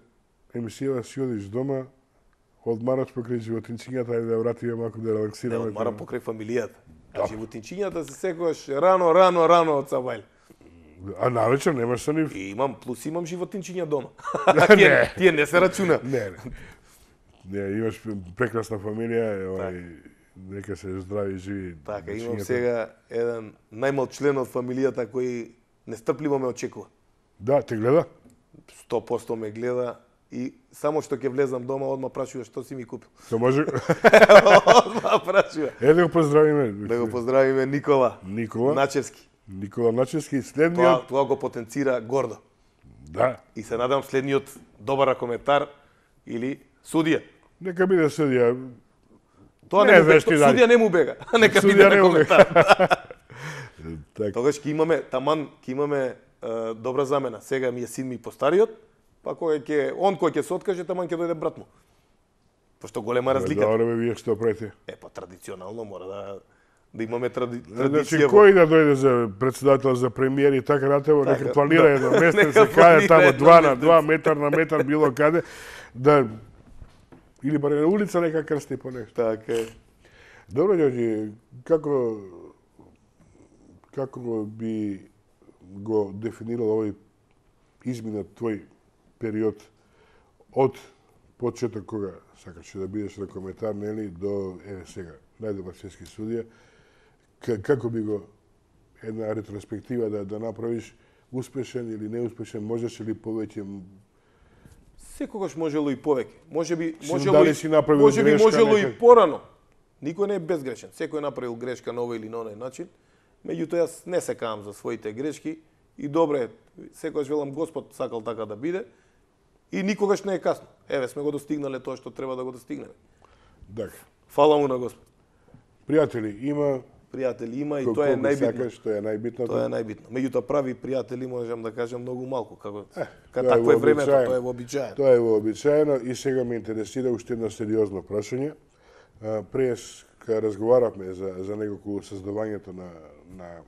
Speaker 1: емисијава си одиш дома, одмараш покрај животинчињата, ајде да вратиме малку да релаксираме.
Speaker 2: Не, одмарам покрај фамилијата. А животинчињата се секогаш рано, рано, рано од Сабајле.
Speaker 1: А навечер немаш со нив?
Speaker 2: И имам, плюс имам животинчиња дома.
Speaker 1: тие,
Speaker 2: тие не се рачуна.
Speaker 1: Не, не. Не, имаш прекрасна фамилија, овај, нека се здрави и живи.
Speaker 2: Така, имам сега еден најмал член од фамилијата кој нестрпливо ме очекува.
Speaker 1: Да, те гледа?
Speaker 2: сто проценти ме гледа и само што ќе влезам дома, одма прашува што си ми купил.
Speaker 1: Што може?
Speaker 2: Одма прашува.
Speaker 1: Е, да го поздравиме.
Speaker 2: Да го поздравиме Никола.
Speaker 1: Никола.
Speaker 2: Начевски.
Speaker 1: Никола Начевски, следниот.
Speaker 2: Тоа, тоа го потенцира гордо.
Speaker 1: Да.
Speaker 2: И се надам следниот добар коментар или судија.
Speaker 1: Нека биде судија.
Speaker 2: Тоа не, не му бега. Судија не му бега. Нека биде на коментар.
Speaker 1: Так.
Speaker 2: Тогаш ќе имаме таман, ќе имаме е, добра замена. Сега ми е син ми постариот, па кој ќе он кој ќе се откаже, таман ќе дојде брат му. Пошто голема разлика.
Speaker 1: Добре, бе, вие што правите?
Speaker 2: Е, па традиционално мора да да имаме тради...
Speaker 1: Значи,
Speaker 2: традиција.
Speaker 1: кој да дојде за председател, за премиер и така натаму,
Speaker 2: Така,
Speaker 1: нека планира
Speaker 2: да.
Speaker 1: едно место,
Speaker 2: Нека
Speaker 1: се каде
Speaker 2: планира
Speaker 1: тамо
Speaker 2: едно
Speaker 1: два на
Speaker 2: место.
Speaker 1: два, метар на метар, било каде, да или барем на улица нека крсти по нешто.
Speaker 2: Така е.
Speaker 1: Добро, Ѓорѓи, како како би го дефинирал овој изминат твој период од почеток кога сакаше да бидеш на коментар, нели, до еве сега, најдобар светски судија, како би го една ретроспектива да да направиш успешен или неуспешен, можеш ли повеќе?
Speaker 2: Секогаш можело и повеќе. Можеби
Speaker 1: Си
Speaker 2: можело
Speaker 1: дали
Speaker 2: и
Speaker 1: си направил
Speaker 2: можеби
Speaker 1: грешка
Speaker 2: можело и
Speaker 1: некад?
Speaker 2: порано. Никој не е безгрешен. Секој направил грешка на овој или на оној начин. Меѓутоа јас не се каам за своите грешки и добре, секогаш велам Господ сакал така да биде и никогаш не е касно. Еве сме го достигнале тоа што треба да го достигнеме.
Speaker 1: Така.
Speaker 2: Фала му на Господ.
Speaker 1: Пријатели, има
Speaker 2: Пријатели има и
Speaker 1: колку
Speaker 2: тоа е
Speaker 1: ги
Speaker 2: најбитно.
Speaker 1: сакаш, тоа е најбитното.
Speaker 2: Тоа е најбитно. Меѓутоа прави пријатели можам да кажам многу малку, како
Speaker 1: Е,
Speaker 2: ка
Speaker 1: тоа е
Speaker 2: такво е времето,
Speaker 1: вообичаено.
Speaker 2: тоа е вообичаено.
Speaker 1: Тоа е вообичаено и сега ме интересира уште едно сериозно прашање. А, Прес кога разговаравме за за неколку создавањето на на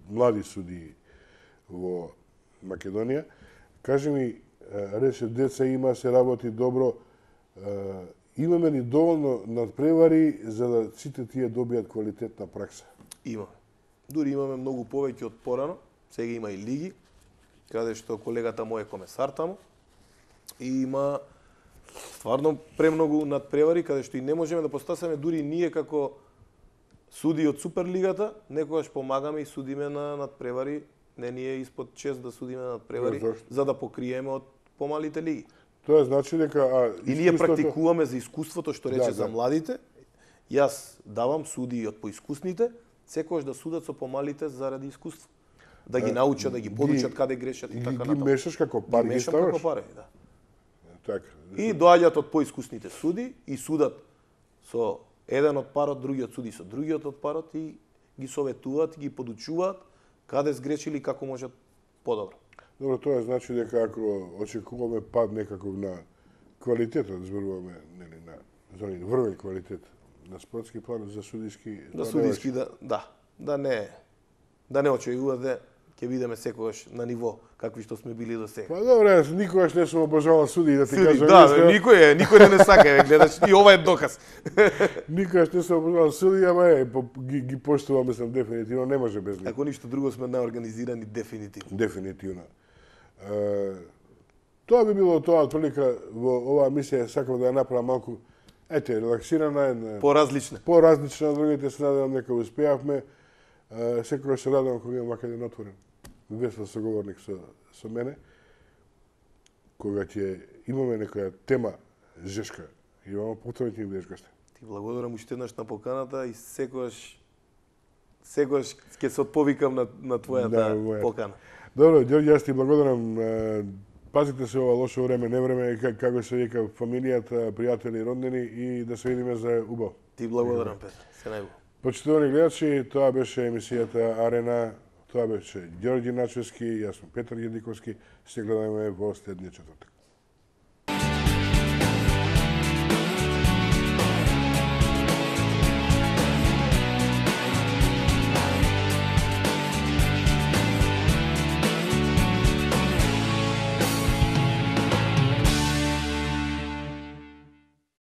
Speaker 1: млади судии во Македонија, кажи ми, а, рече деца има, се работи добро, а, имаме ли доволно надпревари за да сите тие добијат квалитетна пракса?
Speaker 2: Имаме. Дури имаме многу повеќе од порано. Сега има и лиги, каде што колегата мој е комесар таму. И има стварно премногу надпревари, каде што и не можеме да постасаме дури ние како суди од Суперлигата, некогаш помагаме и судиме на надпревари, не ни е испод шест да судиме на надпревари,
Speaker 1: Да, зашто?
Speaker 2: за да покриеме од помалите лиги.
Speaker 1: Тоа значи дека а,
Speaker 2: И ние
Speaker 1: искуството-
Speaker 2: практикуваме за искуството што рече
Speaker 1: Да,
Speaker 2: за
Speaker 1: да.
Speaker 2: младите. Јас давам суди од поискусните, секогаш да судат со помалите заради искуство. Да ги научат, да ги подучат каде грешат и
Speaker 1: ги,
Speaker 2: така
Speaker 1: ги
Speaker 2: натаму.
Speaker 1: мешаш како пар ги
Speaker 2: мешам
Speaker 1: ставаш?
Speaker 2: како пари, да.
Speaker 1: Така.
Speaker 2: И доаѓаат од поискусните суди и судат со еден од парот, другиот суди со другиот од парот и ги советуваат, ги подучуваат каде сгрешили, како можат подобро.
Speaker 1: Добро, тоа значи дека ако очекуваме пад некаков на квалитетот, зборуваме нели на зони врвен квалитет на спортски план за судиски,
Speaker 2: Да
Speaker 1: тоа не
Speaker 2: судиски
Speaker 1: важи.
Speaker 2: да, да, да не да не очекувате ќе бидеме секогаш на ниво какви што сме били до сега.
Speaker 1: Па добре, јас никогаш не сум обожавал суди да ти
Speaker 2: Суди,
Speaker 1: кажам
Speaker 2: да,
Speaker 1: истина.
Speaker 2: никој е, никој не не сака, еве гледаш, и ова е доказ.
Speaker 1: Никогаш не сум обожавал суди, ама е, по- ги, ги поштувам, мислам, дефинитивно, не може без нив.
Speaker 2: Ако ништо друго сме наорганизирани дефинитивно.
Speaker 1: Дефинитивно. Е, тоа би било тоа, отприлика во оваа мисија сакам да ја направам малку, ете, релаксирана, една,
Speaker 2: Поразлична.
Speaker 1: по-различна од другите, се надевам дека успеавме. Е, секогаш се радувам кога имам вака еден отворен, весел соговорник со, со мене, кога ќе имаме некоја тема жешка, имаме повторно ќе ми бидеш гостен.
Speaker 2: Ти благодарам уште еднаш на поканата и секогаш секогаш ќе се отповикам на на твојата
Speaker 1: Да, моја.
Speaker 2: покана.
Speaker 1: Добро, Ѓорѓе, јас ти благодарам. Е, Пазите се ова лошо време, не време, как- како се вика, фамилијата, пријатели, роднини и да се видиме за убаво.
Speaker 2: Ти благодарам, Петар. Се најубаво.
Speaker 1: Почитувани гледачи, тоа беше емисијата Арена, тоа беше Ѓорѓи Начевски, јас сум Петар Једиковски, се гледаме во следниот четвртак.